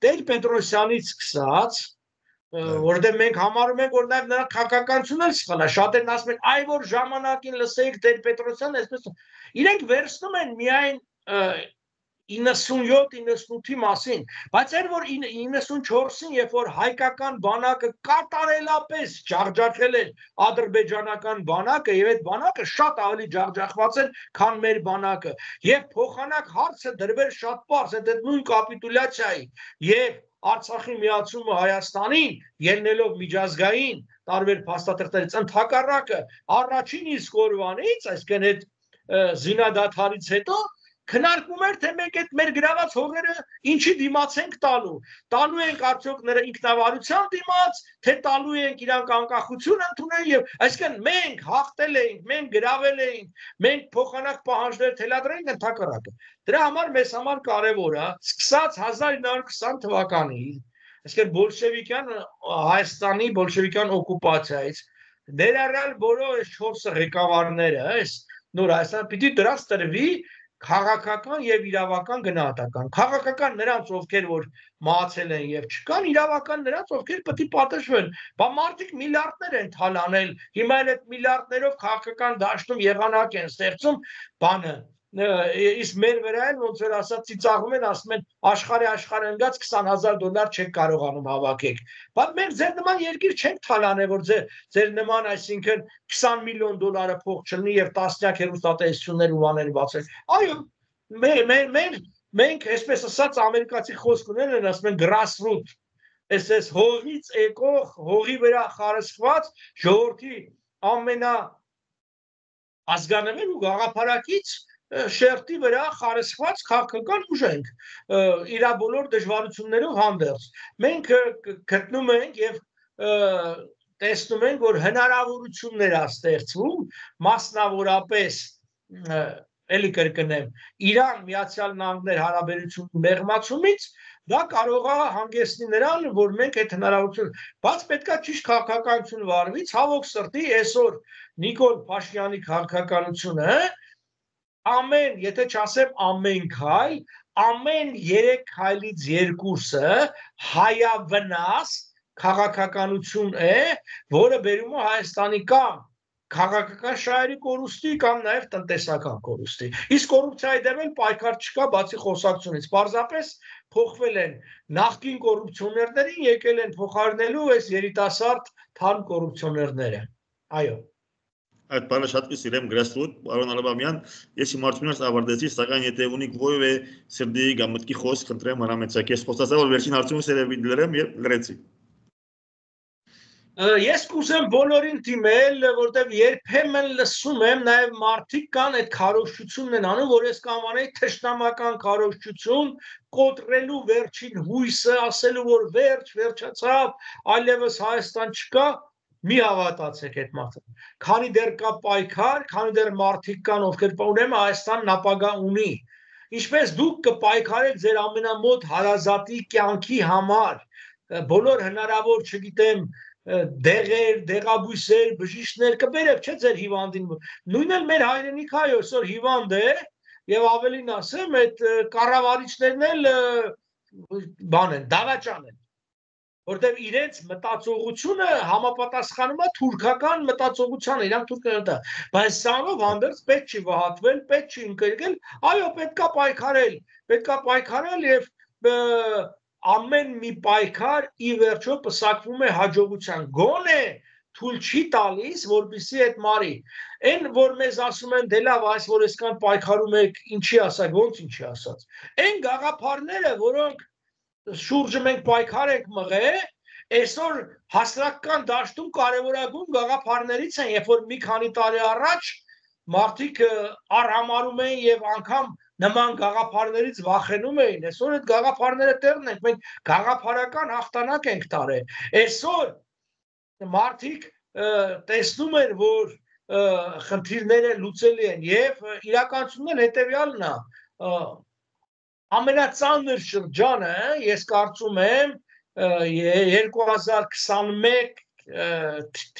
Տեր-Պետրոսյանից սկսած, որտեղ մենք համարում ենք, որ նաև նրա քաղաքականությունն էլ սխալ է, շատերն ասում են, այ որ ժամանակին լսեիք Տեր-Պետրոսյանը, այսպես իրենք վերցնում են միայն իննսունյոթ իննսունութի մասին, բայց այն որ իննսունչորսին, երբ որ հայկական բանակը կատարելապես ջախջախել էր ադրբեջանական բանակը եւ այդ բանակը շատ ավելի ջախջախված էր, քան մեր բանակը, եւ փոխանակ հարցը դրվել շատ པարզ, այդ նույն կապիտուլյացիայի եւ Արցախի միացումը Հայաստանին, ելնելով միջազգային տարբեր փաստաթղթերից, ընդհակառակը առաջին իսկ օրվանից, այսինքն այդ զինադադարից հետո քննարկում էր, թե մենք այդ մեր գրաված հողերը ինչի դիմաց ենք տալու, տալու ենք արդյոք նրա ինքնավարության դիմաց, թե տալու ենք իրանք անկախություն ընդունել եւ այսինքն մենք հաղթել էինք, մենք գրավել էինք, մենք փոխանակ պահանջներ թելադրել ենք ընդհակառակը։ Դրա համար մեզ համար կարևոր է, սկսած հազար ինը հարյուր քսան թվականից, այսինքն բոլշևիկյան Հայաստանի բոլշևիկյան օկուպացիայից, ներառյալ բոլոր այս չորս ղեկավարները, այս նոր Հայաստանը պիտի դրանց տրվի քաղաքական եւ իրավական գնահատական, քաղաքական նրանց ովքեր որ մահացել են եւ չկան, իրավական նրանց ովքեր պետք է պատժվեն, բա մարդիկ միլիարդներ են թալանել, հիմա այդ միլիարդներով քաղաքական դաշտում եղանակ են ստեղծում, բանը իսկ մեր վրա են ոնց որ ասած ծիծաղում են, ասում են աշխարհի աշխարհ ընկած քսան հազար դոլար չեք կարողանում հավաքեք, բայց մենք ձեր նման երկիր չենք թալանել, որ ձեր ձեր նման այսինքն քսան միլիոն դոլարը փող չլինի եւ տասնյակ հեռուստատեսություններ ու բաներ բացել, այո մեր մեր մենք այսպես ասած ամերիկացի խոսք ունեն են ասում են grassroot, այսպես հողից եկող հողի վրա խարսխված ժողովրդի ամենա ազգանավեր ու գաղափարակից շերտի վրա խարսխված քաղաքական ուժ ենք իր բոլոր դժվարություններով հանդերձ։ Մենք գտնում ենք եւ տեսնում ենք, որ հնարավորություններ է ստեղծվում, մասնավորապես էլի կրկնեմ, Իրան Միացյալ Նահանգներ հարաբերությունների մեղմացումից դա կարող է հանգեցնի նրան, որ մենք այդ հնարավորությունը, բայց պետքա ճիշտ քաղաքականություն վարվի, ցավոք սրտի, այսօր Նիկոլ Փաշինյանի քաղաքականությունը ամեն, եթե չասեմ ամեն քայլ, ամեն երեք քայլից երկուսը հայավնաս քաղաքականություն է, որը բերում է Հայաստանի կամ քաղաքական շահերի կորուստի կամ նաև տնտեսական կորուստի։ Իսկ կոռուպցիայի դեմ էլ պայքար չկա, բացի խոսակցությունից։ Պարզապես փոխվել են նախկին կոռուպցիոներներին, եկել են փոխարինելու այս երիտասարդ թարմ կոռուպցիոներները։ Այո։ Այդ բանը շատ կսիրեմ գրասրուտ, պարոն Ալաբամյան, ես իմ արդյունքներս ավարտեցի, սակայն եթե ունիք որևէ սրդի կամ մտքի խոսք, խնդրեմ հրամեցեք։ Ես խոստացա, որ վերջին արդյունքս երևի դրեմ եւ լրեցի։ Ես կուզեմ բոլորին դիմել, որտեղ երբեմն լսում եմ, նաև մարդիկ կան այդ քարոզչությունն են անում, որ ես կանվանեի թշնամական քարոզչություն, կոտրելու վերջին հույսը, ասելու որ վերջ, վերջացավ, այլևս Հայաստան չկա, մի հավատացեք այդ մարդը։ Քանի դեռ կա պայքար, քանի դեռ մարդիկ կան, ովքեր ուրեմն Հայաստանն ապագա ունի։ Ինչպես դուք կպայքարեք ձեր ամենամոտ հարազատի կյանքի համար, բոլոր հնարավոր, չգիտեմ, դեղեր, դեղաբույսեր, բժիշկներ կբերեք, չէ՞ ձեր հիվանդին։ Նույնն էլ մեր հայրենիքը այո, այսօր հիվանդ է, եւ ավելին ասեմ, այդ կառավարիչներն էլ բան են, դավաճան են, որտեղ իրենց մտածողությունը համապատասխանում է թուրքական մտածողությանը, իրանք թուրքն է, բայց սրանով հանդերձ պետք չի վհատվել, պետք չի ընկերել, այո, պետքա պայքարել, պետքա պայքարել եւ ամեն մի պայքար ի վերջո պսակվում է հաջողության, գոնե թույլ չի տալիս, որպեսզի այդ մարի, այն որ մեզ ասում են դե լավ, այս որ այսքան պայքարում եք, ինչի ասակ, ոնց ինչի ասած, այն գաղափարները, որոնք շուրջը մենք պայքար ենք մղել, այսօր հասարակական դաշտում կարևորագույն գաղափարներից են, երբ որ մի քանի տարի առաջ մարդիկ արհամարում էին եւ անգամ նման գաղափարներից վախենում էին, այսօր այդ գաղափարները տեղն ենք, մենք գաղափարական հաղթանակ ենք տարել, այսօր մարդիկ տեսնում են, որ խնդիրները լուծելի են եւ իրականությունն հետեւյալն է, ամենածանր շրջանը, ես կարծում եմ երկու հազար քսանմեկ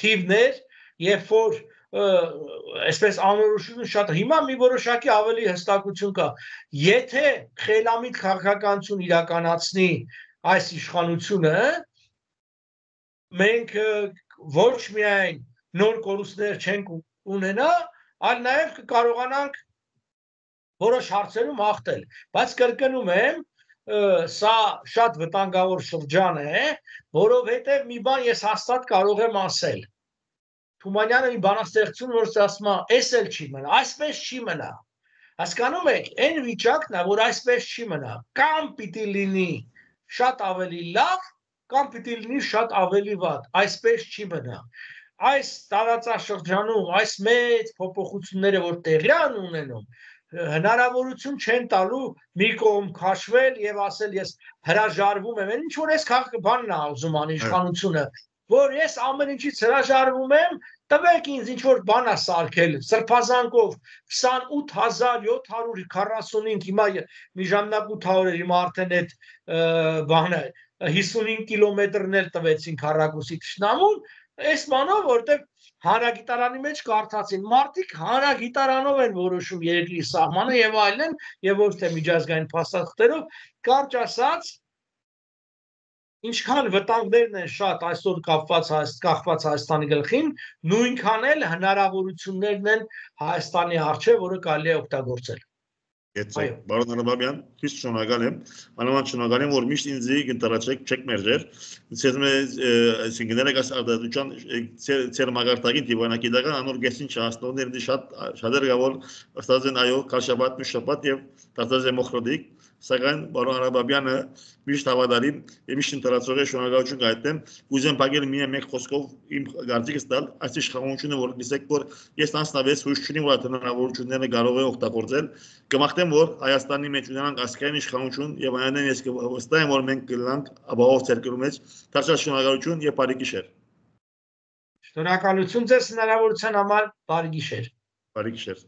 թիվներ, երբ որ այսպես անորոշություն շատ հիմա մի որոշակի ավելի հստակություն կա, եթե խելամիտ քաղաքականություն իրականացնի այս իշխանությունը, մենք ոչ միայն նոր կորուստներ չենք ունենա, այլ նաև կկարողանանք որոշ հարցերում հաղթել, բայց կրկնում եմ, սա շատ վտանգավոր շրջան է, որովհետև մի բան ես հաստատ կարող եմ ասել, Թումանյանը մի բանաստեղծություն, որ ասում է, էս էլ չի մնա, այսպես չի մնա, հասկանում եք, այն վիճակն է, որ այսպես չի մնա, կամ պիտի լինի շատ ավելի լավ, կամ պիտի լինի շատ ավելի վատ, այսպես չի մնա, այս տարածաշրջանում, այս մեծ փոփոխությունները, որ տեղի են ունենում, հնարավորություն չեն տալու մի կողմ քաշվել եւ ասել ես հրաժարվում եմ, ինչ որ ես բանն է ուզում անի իշխանությունը, որ ես ամեն ինչից հրաժարվում եմ, տվեք ինձ ինչ որ բան է սարքել, սրբազանքով քսանութ հազար յոթ հարյուր քառասունհինգ, հիմա մի ժամանակ ութ հարյուր էր, հիմա արդեն այդ բանը հիսունհինգ կիլոմետրն էլ տվեցին քառակուսի թշնամուն, այս բանով, որտեղ հանրագիտարանի մեջ կարդացին, մարդիկ հանրագիտարանով են որոշում երկրի սահմանը եւ այլն, եւ ոչ թե միջազգային փաստաթղթերով, կարճ ասած, ինչքան վտանգներն են շատ այսօր կապված կախված Հայաստանի գլխին, նույնքան էլ հնարավորություններն են Հայաստանի առջև, որը կարելի է օգտագործել։ Եթե բարոն Ալաբամյան, քիչ շնորհակալ եմ, անհամար շնորհակալ եմ, որ միշտ ինձ կընտրացեք, չեք մերժեր, ցեզմե այսինքն ներկայս արտադրության ծեր մագարտագին դիվանագիտական անոր գեսին չհասնողներ շատ շատեր գավոր ըստած են այո, քաշաբատ, մշաբատ եւ տածած դեմոկրատիկ, սակայն բարոն Ալաբամյանը միշտ հավատարիմ եւ միշտ ընտրացող է շնորհակալություն կայտեմ, կուզեմ բաղել միայն մեկ խոսքով իմ գարտիկս տալ, այս իշխանությունը որ գիսեք որ ես անձնավես հույս չունեմ որ հնարավորությունները կարող է օգտագործել, կմաղթեմ որ Հայաստանի մեջ ունենանք ազգային իշխանություն եւ այնեն ես վստահ եմ որ մենք կլանք ապահով ցերկելու մեջ, դարձյալ շնորհակալություն եւ բարի գիշեր։ Շնորհակալություն ձեզ հնարավորության համար, բարի գիշեր։ Բարի գիշեր։